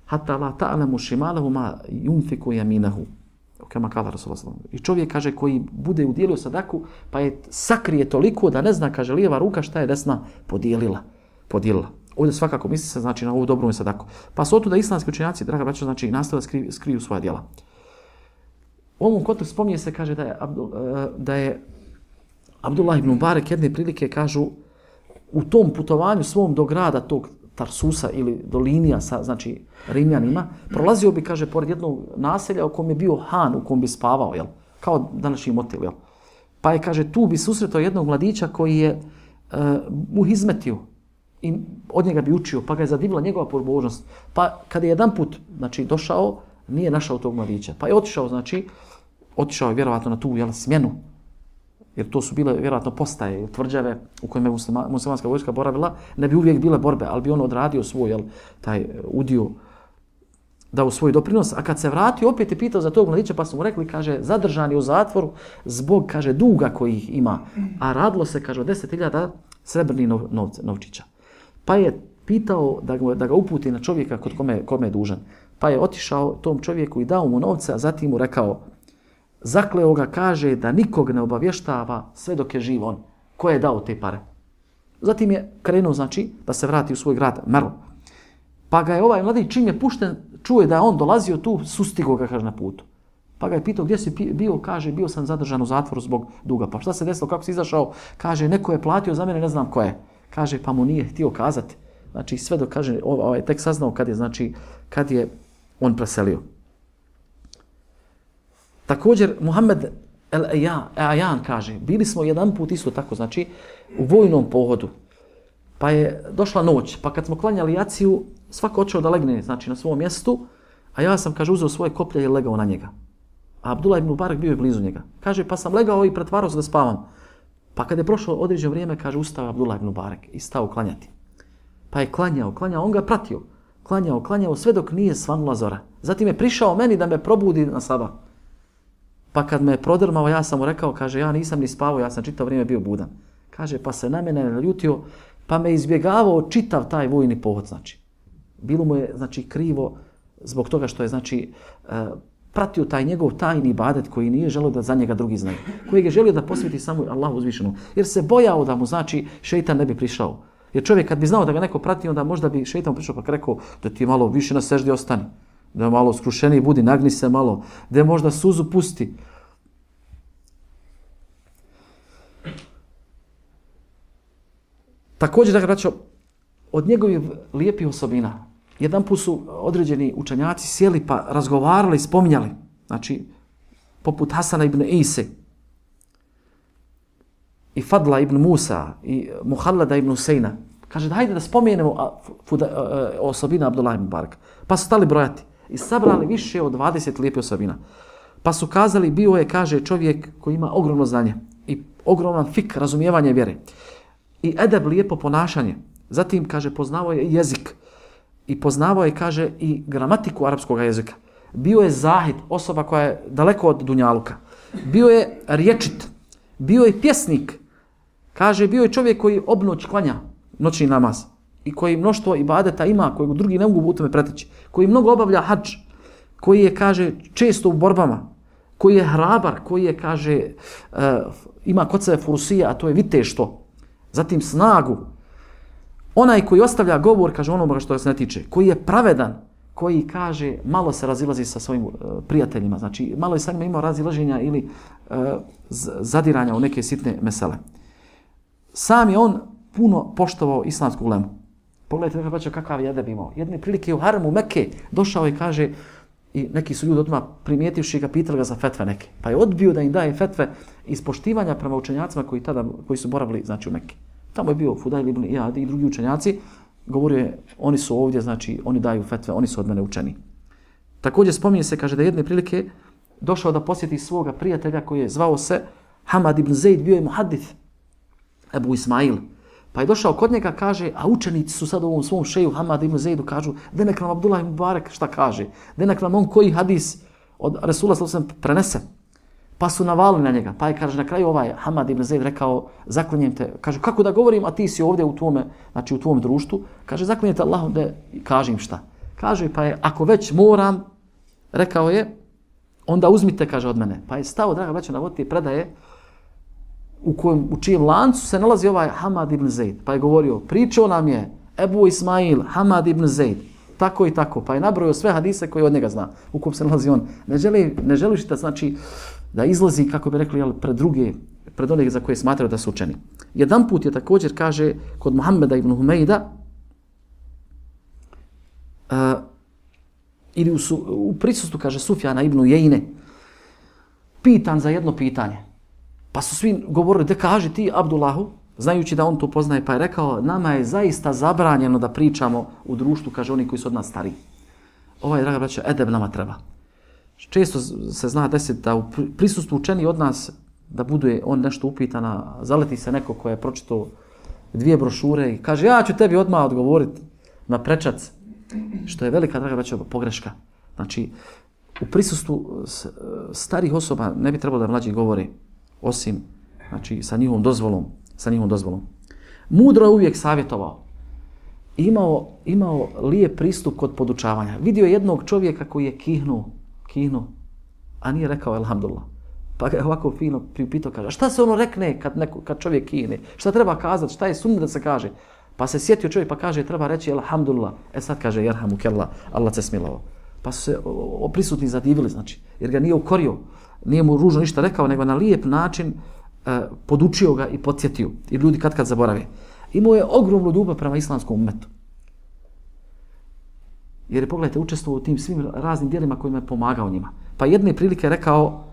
hatta la ta'lamu shimalahu ma yunfiku yaminahu. Kama kala Rasulullah sallallahu alejhi ve sellem. I čovjek, kaže, koji bude udijelio sadaku, pa je sakrije toliko da ne zna, kaže, lijeva ruka šta je desna podijelila. Podijelila. ovdje svakako misli se znači, na ovu dobru sadaku. Pa su otuda islamski učenjaci, draga braćo, znači, nastavili da skriju, skriju svoja djela. U ovom kontekstu spominje se, kaže da je, Abdul, da je Abdullah ibn Mubarek jedne prilike, kažu, u tom putovanju svom do grada tog Tarsusa ili do linija sa, znači, Rimljanima, prolazio bi, kaže, pored jednog naselja u kom je bio han, u kom bi spavao, jel? Kao današnji motel, jel? Pa je, kaže, tu bi susretao jednog mladića koji je uh, mu izmetio i od njega bi učio, pa ga je zadivila njegova pobožnost. Pa kada je jedan put, znači, došao, nije našao tog mladića. Pa je otišao, znači, otišao je vjerovatno na tu, jel, smjenu, jer to su bile vjerojatno postaje, tvrđave u kojima je muslima, muslimanska vojska boravila, ne bi uvijek bile borbe, ali bi on odradio svoj, jel, taj udio, dao svoj doprinos, a kad se vratio, opet je pitao za tog mladića, pa su mu rekli, kaže, zadržan je u zatvoru zbog, kaže, duga koji ih ima, a radilo se, kaže, o deset hiljada srebrnih novce, novčića. Pa je pitao da ga, da ga uputi na čovjeka kod kome, kome je dužan. Pa je otišao tom čovjeku i dao mu novce, a zatim mu rekao, zakleo ga, kaže, da nikog ne obavještava sve dok je živ on. Ko je dao te pare? Zatim je krenuo, znači, da se vrati u svoj grad, Merl. Pa ga je ovaj mladić, čim je pušten, čuje da je on dolazio tu, sustigo ga, kaže, na putu. Pa ga je pitao, gdje si bio? Kaže, bio sam zadržan u zatvoru zbog duga. Pa šta se desilo, kako si izašao? Kaže, neko je platio za mene, ne znam ko je. Kaže, pa mu nije htio kazati. Znači, sve dok, kaže, ovaj, tek saznao kad je, znači, kad je on preselio. Također, Muhammed el-Ajan kaže, bili smo jedan put isto tako, znači, u vojnom pohodu. Pa je došla noć, pa kad smo klanjali jaciju, svako očeo da legne, znači, na svom mjestu, a ja sam, kaže, uzeo svoje koplje i legao na njega. A Abdullah ibn Mubarak bio je blizu njega. Kaže, pa sam legao i pretvarao se da spavam. Pa kad je prošlo određeno vrijeme, kaže, ustao Abdullah ibn Mubarak i stao klanjati. Pa je klanjao, klanjao, on ga pratio. Klanjao, klanjao, sve dok nije svanula zora. Zatim je prišao meni da me probudi na sabah. Pa kad me je prodrmao, ja sam mu rekao, kaže, ja nisam ni spavao, ja sam čitav vrijeme bio budan. Kaže, pa se na mene naljutio, pa me izbjegavao čitav taj vojni pohod, znači. Bilo mu je, znači, krivo zbog toga što je, znači, uh, pratio taj njegov tajni ibadet koji nije želio da za njega drugi znaju. Koji je želio da posveti samo Allahu uzvišenom. Jer se bojao da mu, znači, šeitan ne bi prišao. Jer čovjek kad bi znao da ga neko prati, onda možda bi šeitan prišao pa rekao da ti malo više na seždi ostani. Da malo skrušeniji budi, nagni se malo, da možda suzu pusti. Također, da braćo, od njegovih lijepih osobina, jedan put su određeni učenjaci sjeli pa razgovarali, spominjali, znači, poput Hasana ibn Ise, i Fadla ibn Musa, i Muhallada ibn Husejna. Kaže, da hajde da spomenemo osobina Abdullah ibn Mubaraka. Pa su stali brojati i sabrali više od dvadeset lijepih osobina. Pa su kazali, bio je, kaže, čovjek koji ima ogromno znanje i ogroman fik, razumijevanje vjere. I edeb, lijepo ponašanje. Zatim, kaže, poznavao je jezik. I poznavao je, kaže, i gramatiku arapskog jezika. Bio je zahid, osoba koja je daleko od dunjaluka. Bio je riječit. Bio je pjesnik. Kaže, bio je čovjek koji obnoć klanja noćni namaz. I koji mnoštvo ibadeta ima, koji drugi ne mogu u tome preteći. Koji mnogo obavlja hadž. Koji je, kaže, često u borbama. Koji je hrabar, koji je, kaže, uh, ima kod sebe furusija, a to je viteštvo. Zatim snagu. Onaj koji ostavlja govor, kaže onoga što se ne tiče, koji je pravedan, koji, kaže, malo se razilazi sa svojim uh, prijateljima, znači malo je sa njima imao razilaženja ili uh, zadiranja u neke sitne mesele. Sam je on puno poštovao islamsku ulemu. Pogledajte nekako kakav je edeb imao. Jedne prilike u Haramu Mekke došao i kaže, i neki su ljudi odmah primijetivši ga, pitali ga za fetve neke. Pa je odbio da im daje fetve iz poštivanja prema učenjacima koji tada koji su boravili, znači, u Mekke. Tamo je bio Fudajl ibn Iyad i drugi učenjaci, govorio je, oni su ovdje, znači, oni daju fetve, oni su od mene učeni. Također spominje se, kaže, da jedne prilike došao da posjeti svoga prijatelja koji je zvao se Hamad ibn Zaid, bio je muhadith, Ebu Ismail. Pa je došao kod njega, kaže, a učenici su sad u ovom svom šeju Hamad ibn Zaidu, kažu, da nek nam Abdullah ibn Mubarak šta kaže, da nek nam on koji hadis od Resula sallallahu alejhi ve sellem prenese. Pa su navalili na njega. Pa je, kaže, na kraju ovaj Hamad ibn Zaid rekao, zaklinjem te, kaže, kako da govorim, a ti si ovdje u tvome, znači u tvom društvu, kaže, zaklinjem te Allahom da kažem šta. Kaže, pa je, ako već moram, rekao je, onda uzmite, kaže, od mene. Pa je stao, draga braćo, na vodi predaje, u kojem, u čijem lancu se nalazi ovaj Hamad ibn Zaid. Pa je govorio, pričao nam je Ebu Ismail, Hamad ibn Zaid, tako i tako. Pa je nabrojio sve hadise koje od njega zna, u kom se nalazi on. Ne želi, ne želiš da, znači, da izlazi, kako bi rekli, jel, pred druge, pred onih za koje smatraju da su učeni. Jedan put je također, kaže, kod Muhammeda ibn Humejda, uh, ili u, su, u prisustvu, kaže, Sufjana ibn Jejne, pitan za jedno pitanje. Pa su svi govorili, da kaži ti Abdullahu, znajući da on to poznaje, pa je rekao, nama je zaista zabranjeno da pričamo u društvu, kaže, oni koji su od nas stariji. Ovaj, draga braća, edeb nama treba. Često se zna desiti da u prisustvu učeni od nas, da bude on nešto upitana, zaleti se neko ko je pročitao dvije brošure i kaže, ja ću tebi odmah odgovoriti na prečac, što je velika, draga braća, pogreška. Znači, u prisustvu starih osoba ne bi trebalo da mlađi govore, osim, znači, sa njihovom dozvolom, sa njihovom dozvolom. Mudro je uvijek savjetovao. Imao, imao lijep pristup kod podučavanja. Vidio je jednog čovjeka koji je kihnuo, kihnuo, a nije rekao elhamdulillah. Pa ga je ovako fino priupitao, kaže, šta se ono rekne kad, neko, kad čovjek kihne? Šta treba kazati? Šta je sunnet da se kaže? Pa se sjetio čovjek pa kaže, treba reći elhamdulillah. E sad kaže, jerhamu kellah, Allah se smilovao. Pa su se o, o prisutni zadivili, znači, jer ga nije ukorio, nije mu ružno ništa rekao, nego na lijep način e, podučio ga i podsjetio. I ljudi kad kad zaborave. Imao je ogromnu ljubav prema islamskom umetu. Jer je, pogledajte, učestvovao u tim svim raznim dijelima kojima je pomagao njima. Pa jedne prilike rekao,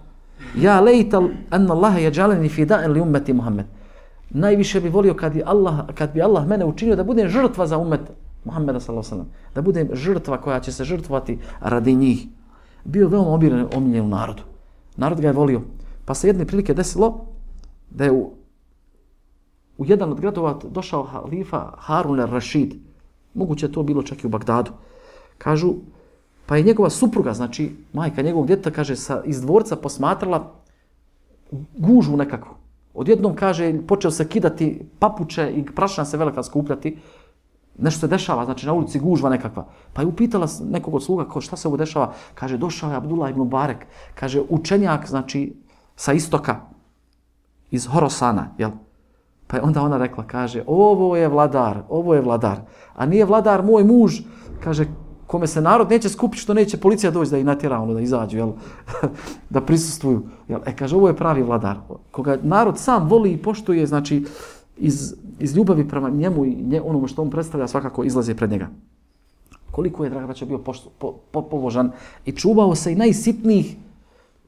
ja lejtal anna Allaha yaj'alani fida'an li ummeti Muhammed. Najviše bi volio kad, Allah, kad bi Allah mene učinio da budem žrtva za ummet Muhammeda sallallahu alejhi ve sellem, da budem žrtva koja će se žrtvovati radi njih. Bio veoma omiljen, omiljen u narodu. Narod ga je volio. Pa se jedne prilike desilo da je u, u jedan od gradova došao halifa Harun al-Rašid. Moguće je to bilo čak i u Bagdadu. Kažu, pa je njegova supruga, znači majka njegovog djeteta, kaže, sa, iz dvorca posmatrala gužvu nekakvu. Odjednom, kaže, počeo se kidati papuče i prašina se velika skupljati. Nešto se dešava, znači na ulici gužva nekakva. Pa je upitala nekog od sluga, ko, šta se ovo dešava? Kaže, došao je Abdullah ibn Barek. Kaže, učenjak, znači, sa istoka, iz Horosana, jel? Pa je onda ona rekla, kaže, ovo je vladar, ovo je vladar. A nije vladar moj muž, kaže, kome se narod neće skupiti, što neće policija doći da ih natjera, ono, da izađu, jel? Da prisustvuju. Jel? E, kaže, ovo je pravi vladar. Koga narod sam voli i poštuje, znači, iz, iz ljubavi prema njemu i nje, onomu što on predstavlja, svakako izlazi pred njega. Koliko je, draga braća, bio pošto, po, po, pobožan i čuvao se i najsitnijih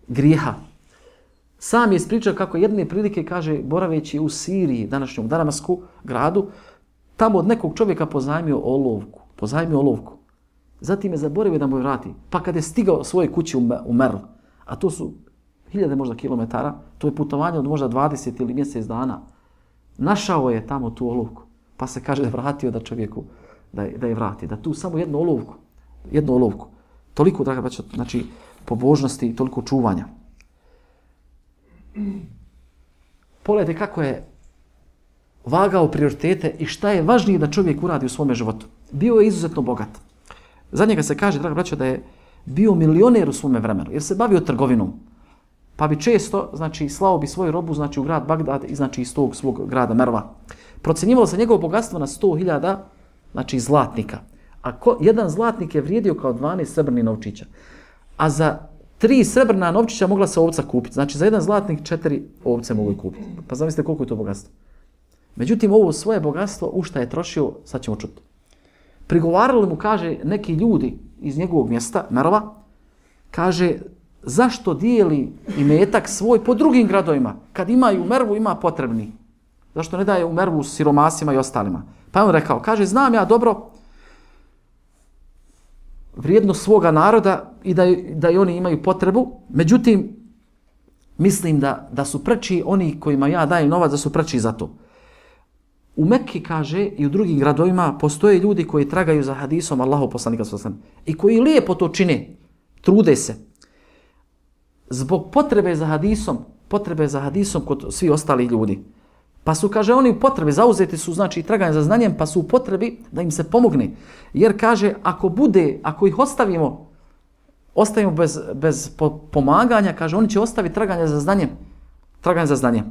grijeha. Sam je ispričao kako jedne prilike, kaže, boraveći u Siriji, današnjom Damasku, gradu, tamo od nekog čovjeka pozajmio olovku. Pozajmio olovku. Zatim je zaboravio da mu je vrati. Pa kad je stigao svoje kući u Merl, a to su hiljade možda kilometara, to je putovanje od možda dvadeset ili mjesec dana, našao je tamo tu olovku. Pa se kaže vratio da čovjeku da je, da je vrati. Da tu samo jednu olovku. Jednu olovku. Toliko, draga braćo, znači, pobožnosti i toliko čuvanja. Pogledajte kako je vagao prioritete i šta je važnije da čovjek uradi u svome životu. Bio je izuzetno bogat. Za njega se kaže, draga braćo, da je bio milioner u svome vremenu, jer se bavio trgovinom. Pa bi često, znači, slao bi svoju robu, znači, u grad Bagdad i, znači, iz tog svog grada Merva. Procenjivalo se njegovo bogatstvo na sto hiljada, znači, zlatnika. A ko, jedan zlatnik je vrijedio kao dvanaest srebrnih novčića. A za tri srebrna novčića mogla se ovca kupiti. Znači, za jedan zlatnik četiri ovce mogu kupiti. Pa zamislite koliko je to bogatstvo. Međutim, ovo svoje bogatstvo, u šta je trošio, sad ćemo čuti. Prigovarali mu, kaže, neki ljudi iz njegovog mjesta, Merova, kaže, zašto dijeli imetak svoj po drugim gradovima? Kad imaju u Mervu, ima potrebni. Zašto ne daje u Mervu siromasima i ostalima? Pa je on rekao, kaže, znam ja dobro vrijednost svoga naroda i da, da i oni imaju potrebu, međutim, mislim da, da su preči oni kojima ja dajem novac, da su preči za to. U Mekki, kaže, i u drugim gradovima postoje ljudi koji tragaju za hadisom Allahov poslanika sallallahu alejhi ve sellem i koji lijepo to čine, trude se. Zbog potrebe za hadisom, potrebe za hadisom kod svi ostali ljudi. Pa su, kaže, oni u potrebi, zauzeti su, znači, traganje za znanjem, pa su u potrebi da im se pomogne. Jer, kaže, ako bude, ako ih ostavimo, ostavimo bez, bez pomaganja, kaže, oni će ostaviti traganje za znanjem. Traganje za znanjem.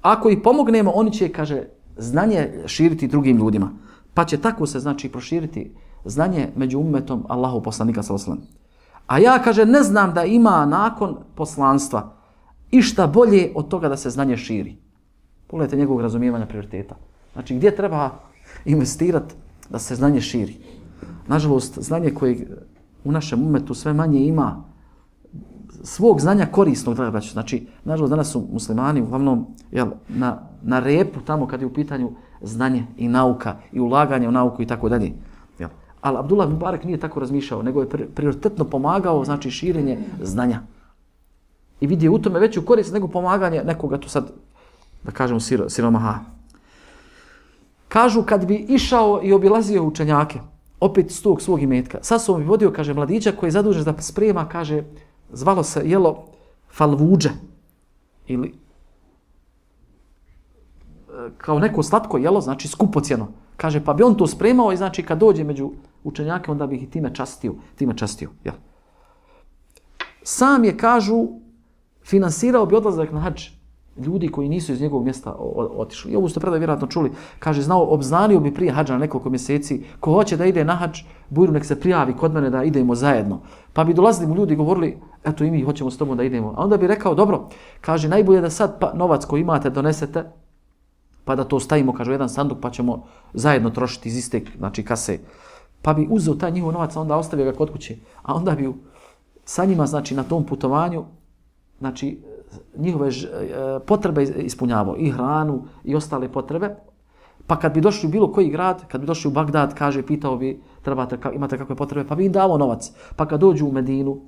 Ako ih pomognemo, oni će, kaže, znanje širiti drugim ljudima. Pa će tako se znači proširiti znanje među ummetom Allahu poslanika sallallahu alejhi ve sellem. A ja, kaže, ne znam da ima nakon poslanstva išta bolje od toga da se znanje širi. Pogledajte njegovog razumijevanja prioriteta. Znači, gdje treba investirati da se znanje širi? Nažalost, znanje koje u našem ummetu sve manje ima svog znanja korisnog, draga braćo. Znači, nažalost, danas su muslimani uglavnom jel, na, na repu tamo kad je u pitanju znanje i nauka i ulaganje u nauku i tako dalje. Ali Abdullah ibn Mubarak nije tako razmišljao, nego je prioritetno pomagao, znači, širenje znanja. I vidio u tome veću korist nego pomaganje nekoga tu sad, da kažemo, siro, siromaha. Kažu, kad bi išao i obilazio učenjake, opet s tog svog imetka, sa sobom bi vodio, kaže, mladića koji je zadužen da sprema, kaže, zvalo se jelo falvuđe, ili kao neko slatko jelo, znači skupocjeno. Kaže, pa bi on to spremao i znači kad dođe među učenjake, onda bi ih time častio. Time častio, jel? Sam je, kažu, finansirao bi odlazak na hadž ljudi koji nisu iz njegovog mjesta otišli. I ovo ste predaj vjerojatno čuli. Kaže, znao, obznanio bi prije hadža na nekoliko mjeseci, ko hoće da ide na hadž, bujru nek se prijavi kod mene da idemo zajedno. Pa bi dolazili mu ljudi i govorili, eto i mi hoćemo s tobom da idemo. A onda bi rekao, dobro, kaže, najbolje da sad pa, novac koji imate donesete, pa da to stavimo, kaže, u jedan sanduk, pa ćemo zajedno trošiti iz iste, znači, kase. Pa bi uzeo taj njihov novac, a onda ostavio ga kod kuće. A onda bi sa njima, znači, na tom putovanju, znači, njihove potrebe ispunjavao, i hranu, i ostale potrebe. Pa kad bi došli u bilo koji grad, kad bi došli u Bagdad, kaže, pitao bi, trebate, imate kakve potrebe, pa bi im dao novac. Pa kad dođu u Medinu,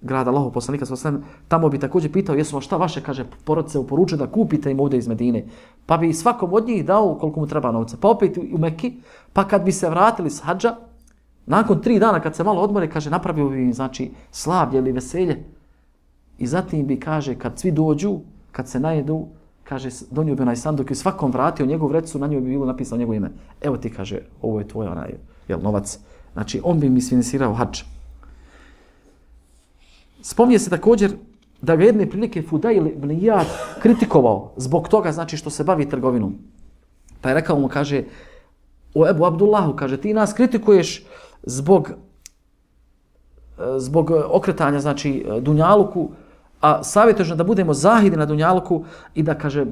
grada Allahov poslanika sallallahu alejhi ve sellem, tamo bi također pitao, jesu vam šta vaše, kaže, porodice uporučuje da kupite im ovdje iz Medine. Pa bi svakom od njih dao koliko mu treba novca. Pa opet u Mekki, pa kad bi se vratili s hadža, nakon tri dana kad se malo odmore, kaže, napravio bi im, znači, slavlje ili veselje. I zatim bi, kaže, kad svi dođu, kad se najedu, kaže, donio bi onaj sanduk i svakom vratio njegov vreću, na njoj bi bilo napisano njegovo ime. Evo ti, kaže, ovo je tvoj onaj, jel, novac. Znači, on bi mi sfinansirao hadž. Spominje se također da ga jedne prilike Fudail ibn Iyad kritikovao zbog toga, znači, što se bavi trgovinom. Pa je rekao mu, kaže, o Ebu Abdullahu, kaže, ti nas kritikuješ zbog, zbog okretanja, znači, dunjaluku, a savjetuješ da budemo zahidi na dunjaluku i da, kaže,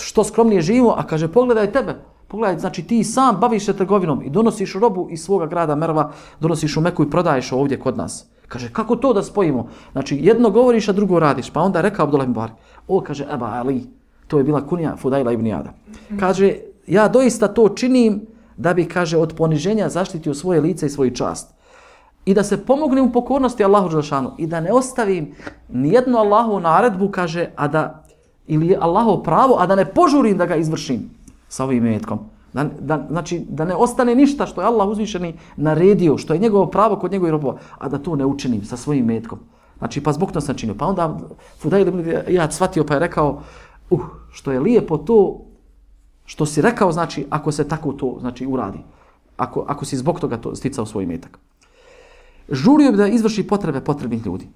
što skromnije živimo, a kaže, pogledaj tebe, pogledaj, znači, ti sam baviš se trgovinom i donosiš robu iz svoga grada Merva, donosiš u Meku i prodaješ ovdje kod nas. Kaže, kako to da spojimo? Znači, jedno govoriš, a drugo radiš. Pa onda je rekao Abdullah ibn Mubarak, o, kaže, Eba Ali, to je bila kunija Fudaila ibn Iyada. Kaže, ja doista to činim da bi, kaže, od poniženja zaštitio svoje lice i svoju čast. I da se pomognem u pokornosti Allahu dželešanu i da ne ostavim nijednu Allahovu naredbu, kaže, a da, ili Allahovo pravo, a da ne požurim da ga izvršim sa ovim imetkom. Da, da, znači, da ne ostane ništa što je Allah uzvišeni naredio, što je njegovo pravo kod njegovih robova, a da to ne učinim sa svojim metkom. Znači, pa zbog to sam činio. Pa onda Fudail ibn Iyad shvatio pa je rekao, uh, što je lijepo to što si rekao, znači, ako se tako to, znači, uradi. Ako, ako si zbog toga to sticao svoj metak. Žurio bi da izvrši potrebe potrebnih ljudi.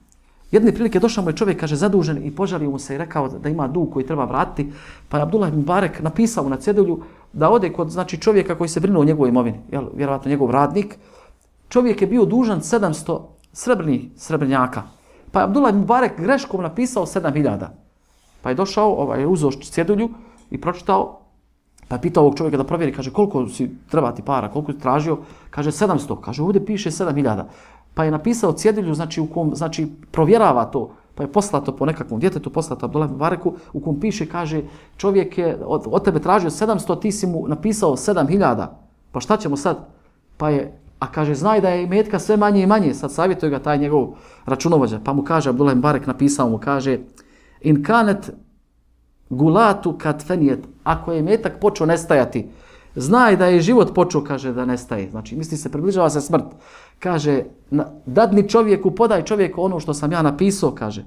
Jedne prilike došao mu je čovjek, kaže, zadužen i požalio mu se i rekao da ima dug koji treba vratiti. Pa je Abdullah ibn Mubarak napisao na cedulju da ode kod, znači, čovjeka koji se brinuo o njegovoj imovini, jel, vjerovatno njegov radnik. Čovjek je bio dužan sedamsto srebrnih srebrnjaka. Pa je Abdullah ibn Mubarak greškom napisao sedam hiljada. Pa je došao, ovaj, je uzeo cedulju i pročitao, pa je pitao ovog čovjeka da provjeri, kaže, koliko si treba ti para, koliko si tražio, kaže, sedamsto, kaže, ovdje piše sedam hiljada. Pa je napisao cedulju, znači, u kom, znači, provjerava to, pa je poslato po nekakvom djetetu, poslato Abdullah ibn Mubaraku, u kom piše, kaže, čovjek je od, od tebe tražio sedamsto, ti si mu napisao sedam hiljada. Pa šta ćemo sad? Pa je, a kaže, znaj da je imetka sve manje i manje, sad savjetuje ga taj njegov računovođa, pa mu kaže, Abdullah ibn Mubarak napisao mu, kaže, in kanet gulatu kad fenijet, ako je imetak počeo nestajati, znaj da je život počeo, kaže, da nestaje. Znači, misli se, približava se smrt. Kaže, dadni čovjeku, podaj čovjeku ono što sam ja napisao, kaže.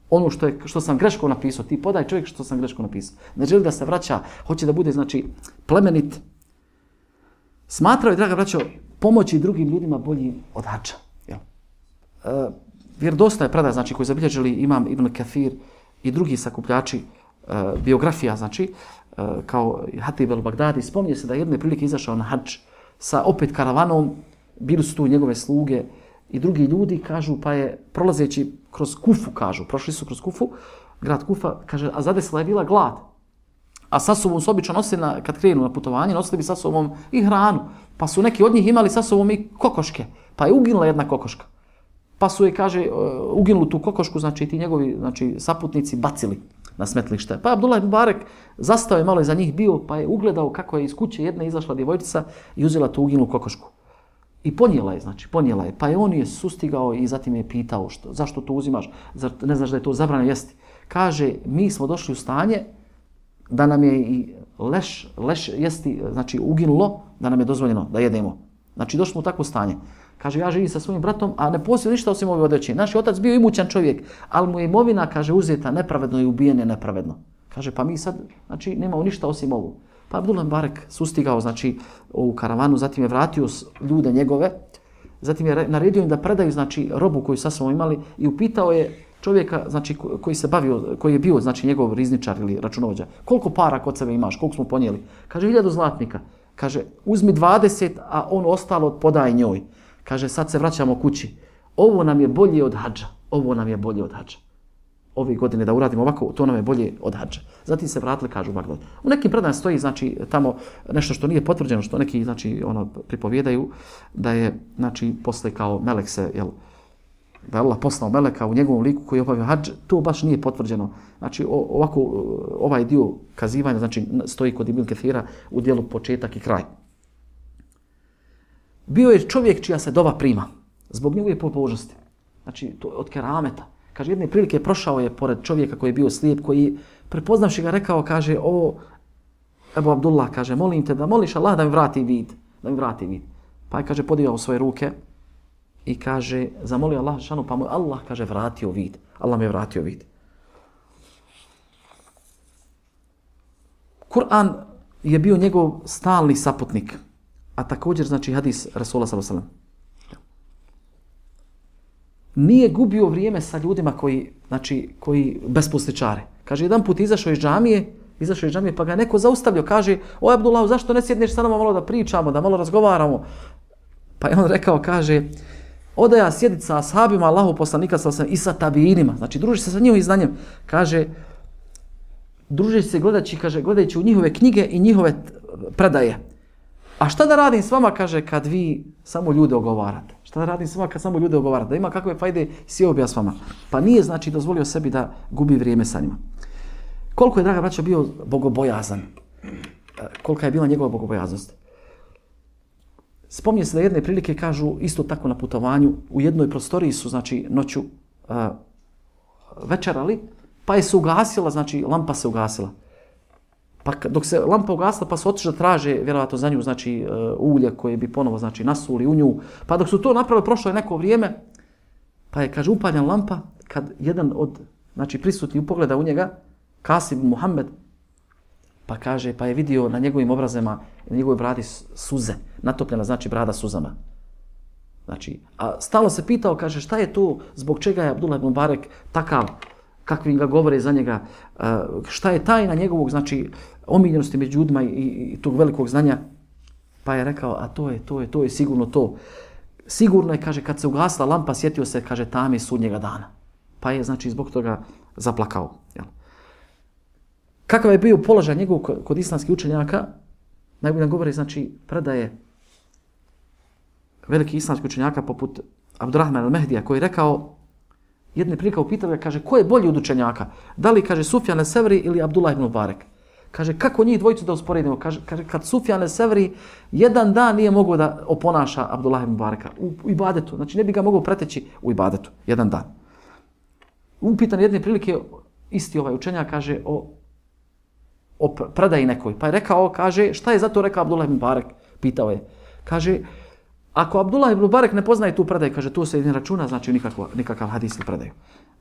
Ono što, je, što sam greško napisao, ti podaj čovjek što sam greško napisao. Ne želi da se vraća, hoće da bude, znači, plemenit. Smatrao je, draga braćo, pomoći drugim ljudima bolji od hadža. E, vjerodostojna je predaj, znači, koji zabilježili imam Ibn Kathir i drugi sakupljači e, biografija, znači, kao Hatib el-Bagdadi, spominje se da jedne prilike izašao na hadž sa opet karavanom, bili su tu njegove sluge i drugi ljudi, kažu, pa je prolazeći kroz Kufu, kažu, prošli su kroz Kufu, grad Kufa, kaže, a zadesila je bila glad. A sa sobom su obično nosili, na, kad krenu na putovanje, nosili bi sa sobom i hranu. Pa su neki od njih imali sa sobom i kokoške. Pa je uginula jedna kokoška. Pa su je, kaže, uginuli tu kokošku, znači ti njegovi znači, saputnici bacili na smetlište. Pa Abdullah ibn Mubarek zastao je malo iza njih bio, pa je ugledao kako je iz kuće jedna izašla djevojčica i uzela tu uginulu kokošku. I ponijela je, znači, ponijela je. Pa je on je sustigao i zatim je pitao što, zašto to uzimaš, zar ne znaš da je to zabranjeno jesti. Kaže, mi smo došli u stanje da nam je i leš, leš jesti, znači uginulo, da nam je dozvoljeno da jedemo. Znači došli smo u takvo stanje. Kaže, ja živim sa svojim bratom, a ne posjeduje ništa osim ove odreće. Naš otac bio imućan čovjek, ali mu je imovina, kaže, uzeta nepravedno i ubijen je nepravedno. Kaže, pa mi sad, znači, nemamo ništa osim ovu. Pa Abdullah Mubarek sustigao, znači, u karavanu, zatim je vratio ljude njegove, zatim je naredio im da predaju, znači, robu koju sa sobom imali i upitao je čovjeka, znači, koji se bavio, koji je bio, znači, njegov rizničar ili računovođa, koliko para kod sebe imaš, koliko smo ponijeli? Kaže, hiljadu zlatnika. Kaže, uzmi dvadeset, a on ostalo podaj njoj. Kaže, sad se vraćamo kući. Ovo nam je bolje od hadža. Ovo nam je bolje od hadža. Ove godine da uradimo ovako, to nam je bolje od hadža. Zatim se vratili, kažu u Bagdad. U nekim predanjima stoji, znači, tamo nešto što nije potvrđeno, što neki, znači, ono, pripovjedaju, da je, znači, posle kao melek se, jel, da je Allah poslao meleka u njegovom liku koji je obavio hadž, to baš nije potvrđeno. Znači, ovako, ovaj dio kazivanja, znači, stoji kod Ibn Kethira u dijelu početak i kraj. Bio je čovjek čija se dova prima, zbog njegove pobožnosti. Znači, to od kerameta. Kaže, jedne prilike prošao je pored čovjeka koji je bio slijep, koji, prepoznavši ga, rekao, kaže, o, Ebu Abdullah, kaže, molim te da moliš Allah da mi vrati vid, da mi vrati vid. Pa je, kaže, podigao svoje ruke i kaže, zamolio Allah šanu, pa mu Allah, kaže, vratio vid. Allah mi je vratio vid. Kur'an je bio njegov stalni saputnik, a također, znači, hadis Rasula sallallahu alejhi ve sellem. Nije gubio vrijeme sa ljudima koji, znači, koji besposličare. Kaže, jedan put izašao iz džamije, izašao iz džamije, pa ga neko zaustavio, kaže, o Abdullah, zašto ne sjedneš sa nama malo da pričamo, da malo razgovaramo? Pa je on rekao, kaže, oda ja sjediti sa ashabima Allahu poslanika sallallahu alejhi ve sellem i sa tabiinima, znači, druži se sa njihovim znanjem. Kaže, druži se gledajući, kaže, gledajući u njihove knjige i njihove predaje. A šta da radim s vama, kaže, kad vi samo ljude ogovarate? Šta da radim s vama kad samo ljude ogovarate? Da ima kakve fajde, sjeo bi ja s vama. Pa nije, znači, dozvolio sebi da gubi vrijeme sa njima. Koliko je, draga braćo, bio bogobojazan? Kolika je bila njegova bogobojaznost? Spominje se da jedne prilike, kažu, isto tako na putovanju, u jednoj prostoriji su, znači, noću uh, večerali, pa je se ugasila, znači, lampa se ugasila. Pa dok se lampa ugasla, pa su otišli da traže, vjerovatno za nju, znači, uh, ulje koje bi ponovo, znači, nasuli u nju. Pa dok su to napravili, prošlo je neko vrijeme, pa je, kaže, upaljena lampa, kad jedan od, znači, prisutni pogleda u njega, Kasim Muhammed, pa kaže, pa je vidio na njegovim obrazima, na njegovoj bradi suze, natopljena, znači, brada suzama. Znači, a stalno se pitao, kaže, šta je to, zbog čega je Abdullah ibn Mubarek takav, kakvim ga govore za njega, šta je tajna njegovog, znači, omiljenosti među ljudima i, i tog velikog znanja. Pa je rekao, a to je, to je, to je sigurno to. Sigurno je, kaže, kad se ugasla lampa, sjetio se, kaže, tame sudnjega dana. Pa je, znači, zbog toga zaplakao. Jel? Kakav je bio položaj njegov kod islamskih učenjaka, najbolje govori, znači, predaje veliki islamski učenjaka poput Abdurrahman al-Mehdija, koji je rekao, jedne prilike upitao ga, kaže, ko je bolji od učenjaka? Da li, kaže, Sufjan el-Sevri ili Abdullah ibn Mubarek? Kaže, kako njih dvojicu da usporedimo? Kaže, kaže kad Sufjan el-Sevri jedan dan nije mogao da oponaša Abdullah ibn Mubareka u, u ibadetu. Znači, ne bi ga mogao preteći u ibadetu. Jedan dan. Upitan jedne prilike, isti ovaj učenjak, kaže, o, o predaji nekoj. Pa je rekao, kaže, šta je zato rekao Abdullah ibn Mubarek? Pitao je. Kaže, ako Abdullah ibn Mubarek ne poznaje tu predaju, kaže, to se ne računa, znači nikakav, nikakav hadis ili predaju.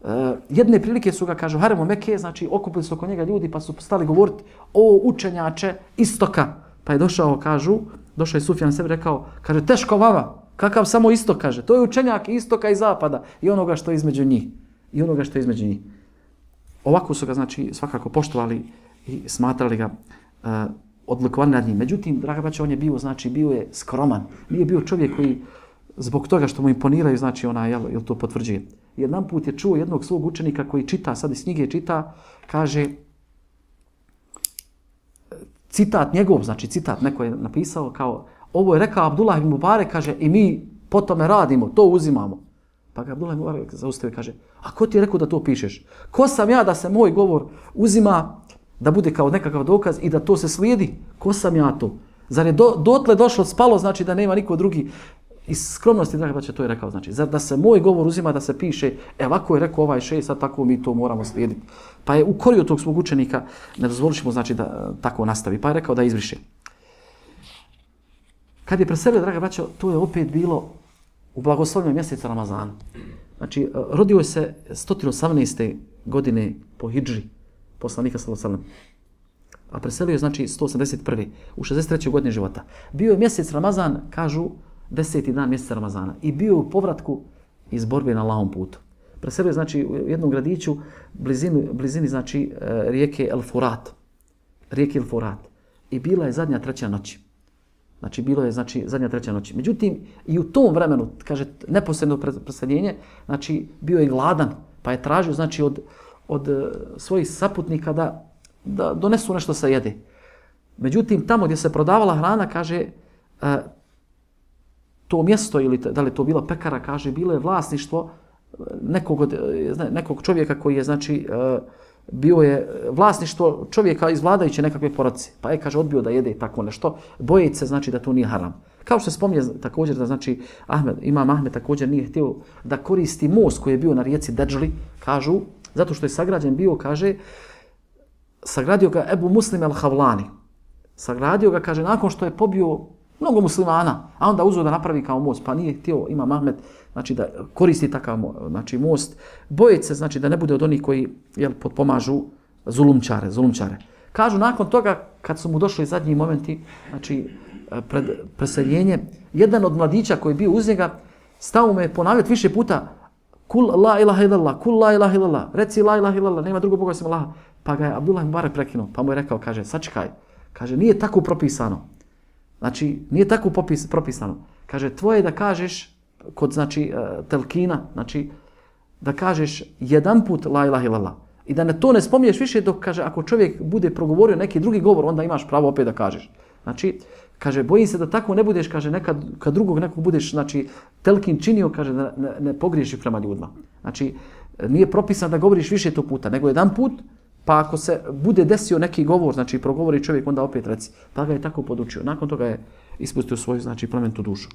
E, jedne prilike su ga, kažu, haremu Mekke, znači okupili su oko njega ljudi pa su stali govoriti o učenjače istoka. Pa je došao, kažu, došao je Sufjan sebi rekao, kaže, teško vama, kakav samo istok, kaže, to je učenjak istoka i zapada i onoga što je između njih. I onoga što je između njih. Ovako su ga, znači, svakako poštovali i smatrali ga uh, odlikovan nad njim. Međutim, draga braća, on je bio, znači, bio je skroman. Nije bio čovjek koji, zbog toga što mu imponiraju, znači, ona, jel, jel to potvrđuje. Jedan put je čuo jednog svog učenika koji čita, sad iz knjige čita, kaže, citat njegov, znači citat neko je napisao kao, ovo je rekao Abdullah ibn Mubarek, kaže, i mi po tome radimo, to uzimamo. Pa ga Abdullah ibn Mubarek zaustavio i kaže, a ko ti je rekao da to pišeš? Ko sam ja da se moj govor uzima, da bude kao nekakav dokaz i da to se slijedi? Ko sam ja to? Zar je do, dotle došlo, spalo, znači da nema niko drugi? Iz skromnosti, draga braća, to je rekao, znači, zar da se moj govor uzima da se piše, e, ovako je rekao ovaj šejh, sad tako mi to moramo slijediti. Pa je ukorio tog svog učenika, ne dozvoliš mu, znači, da tako nastavi. Pa je rekao da izbriše. Kad je preselio, draga braća, to je opet bilo u blagoslovnom mjesecu Ramazana. Znači, rodio je se sto osamnaeste godine po hidžri, poslanika sallallahu alejhi ve sellem. A preselio je, znači, sto osamdeset prve u šezdeset trećoj godini života. Bio je mjesec Ramazan, kažu, deseti dan mjeseca Ramazana i bio u povratku iz borbe na Allahovom putu. Preselio je, znači, u jednom gradiću blizini, blizini znači, rijeke El Furat. Rijeke El Furat. I bila je zadnja treća noći. Znači, bilo je, znači, zadnja treća noći. Međutim, i u tom vremenu, kaže, neposredno preseljenje, znači, bio je gladan, pa je tražio, znači, od, od svojih saputnika da, da donesu nešto sa jede. Međutim, tamo gdje se prodavala hrana, kaže, to mjesto, ili da li to bila pekara, kaže, bilo je vlasništvo nekog, od, nekog čovjeka koji je, znači, bio je vlasništvo čovjeka iz vladajuće nekakve porodice. Pa je, kaže, odbio da jede tako nešto, bojeći se, znači, da to nije haram. Kao što se spominje također da, znači, Ahmed, imam Ahmed također nije htio da koristi most koji je bio na rijeci Deđli, kažu, zato što je sagrađen bio, kaže, sagradio ga Ebu Muslim el-Havlani. Sagradio ga, kaže, nakon što je pobio mnogo muslimana, a onda uzeo da napravi kao most, pa nije htio Imam Ahmed, znači, da koristi takav, znači, most, bojeći se, znači, da ne bude od onih koji, jel, potpomažu zulumčare, zulumčare. Kažu, nakon toga, kad su mu došli zadnji momenti, znači, pred preseljenje, jedan od mladića koji je bio uz njega, stao mu je ponavljati više puta, kul la ilaha illallah, kul la ilaha illallah, reci la ilaha illallah, nema drugog Boga osim Allaha. Pa ga je Abdullah ibn Mubarek prekinuo, pa mu je rekao, kaže, sačekaj, kaže, nije tako propisano. Znači, nije tako popis, propisano. Kaže, tvoje da kažeš, kod, znači, telkina, znači, da kažeš jedan put la ilaha illallah. I da ne to ne spominješ više dok, kaže, ako čovjek bude progovorio neki drugi govor, onda imaš pravo opet da kažeš. Znači, kaže, bojim se da tako ne budeš, kaže, nekad, kad drugog nekog budeš, znači, telkin činio, kaže, da ne, ne pogriješi prema ljudima. Znači, nije propisano da govoriš više to puta, nego jedan put, pa ako se bude desio neki govor, znači, progovori čovjek, onda opet reci. Pa ga je tako podučio. Nakon toga je ispustio svoju, znači, plementu dušu.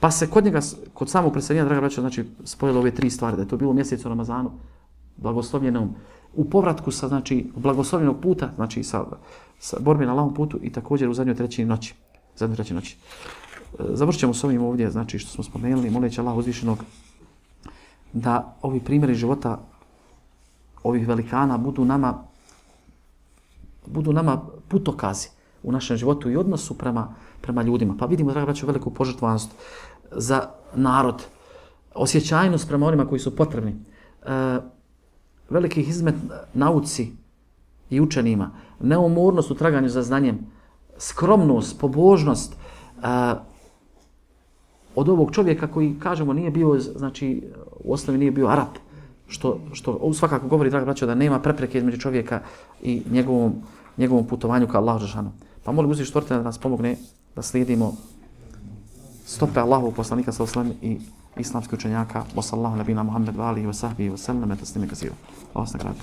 Pa se kod njega, kod samog preseljenja, draga braća, znači, spojilo ove tri stvari, da je to bilo u mjesecu Ramazanu, blagoslovljenom, u povratku sa, znači, blagoslovljenog puta, znači, sa, sa borbe na Allahovom putu i također u zadnjoj trećini noći. Zadnjoj trećini noći. Završit ćemo s ovim ovdje, znači, što smo spomenuli, moleći Allah uzvišenog da ovi primjeri života ovih velikana budu nama, budu nama putokazi u našem životu i odnosu prema, prema ljudima. Pa vidimo, draga braćo, veliku požrtvovanost za narod, osjećajnost prema onima koji su potrebni, e, veliki izmet nauci i učenima, neumornost u traganju za znanjem, skromnost, pobožnost e, od ovog čovjeka koji, kažemo, nije bio, znači, u osnovi nije bio Arap, što, što svakako govori, draga braćo, da nema prepreke između čovjeka i njegovom, njegovom putovanju ka Allahu dželešanu. Pa molim uzvišnog stvoritelja da nas pomogne da slijedimo stope Allahovog poslanika sallallahu alejhi ve sellem i islamskih učenjaka. Wa sallallahu nabina Muhammed wa alihi wa sahbihi wa sallam taslima kaseera. Allah nagradi.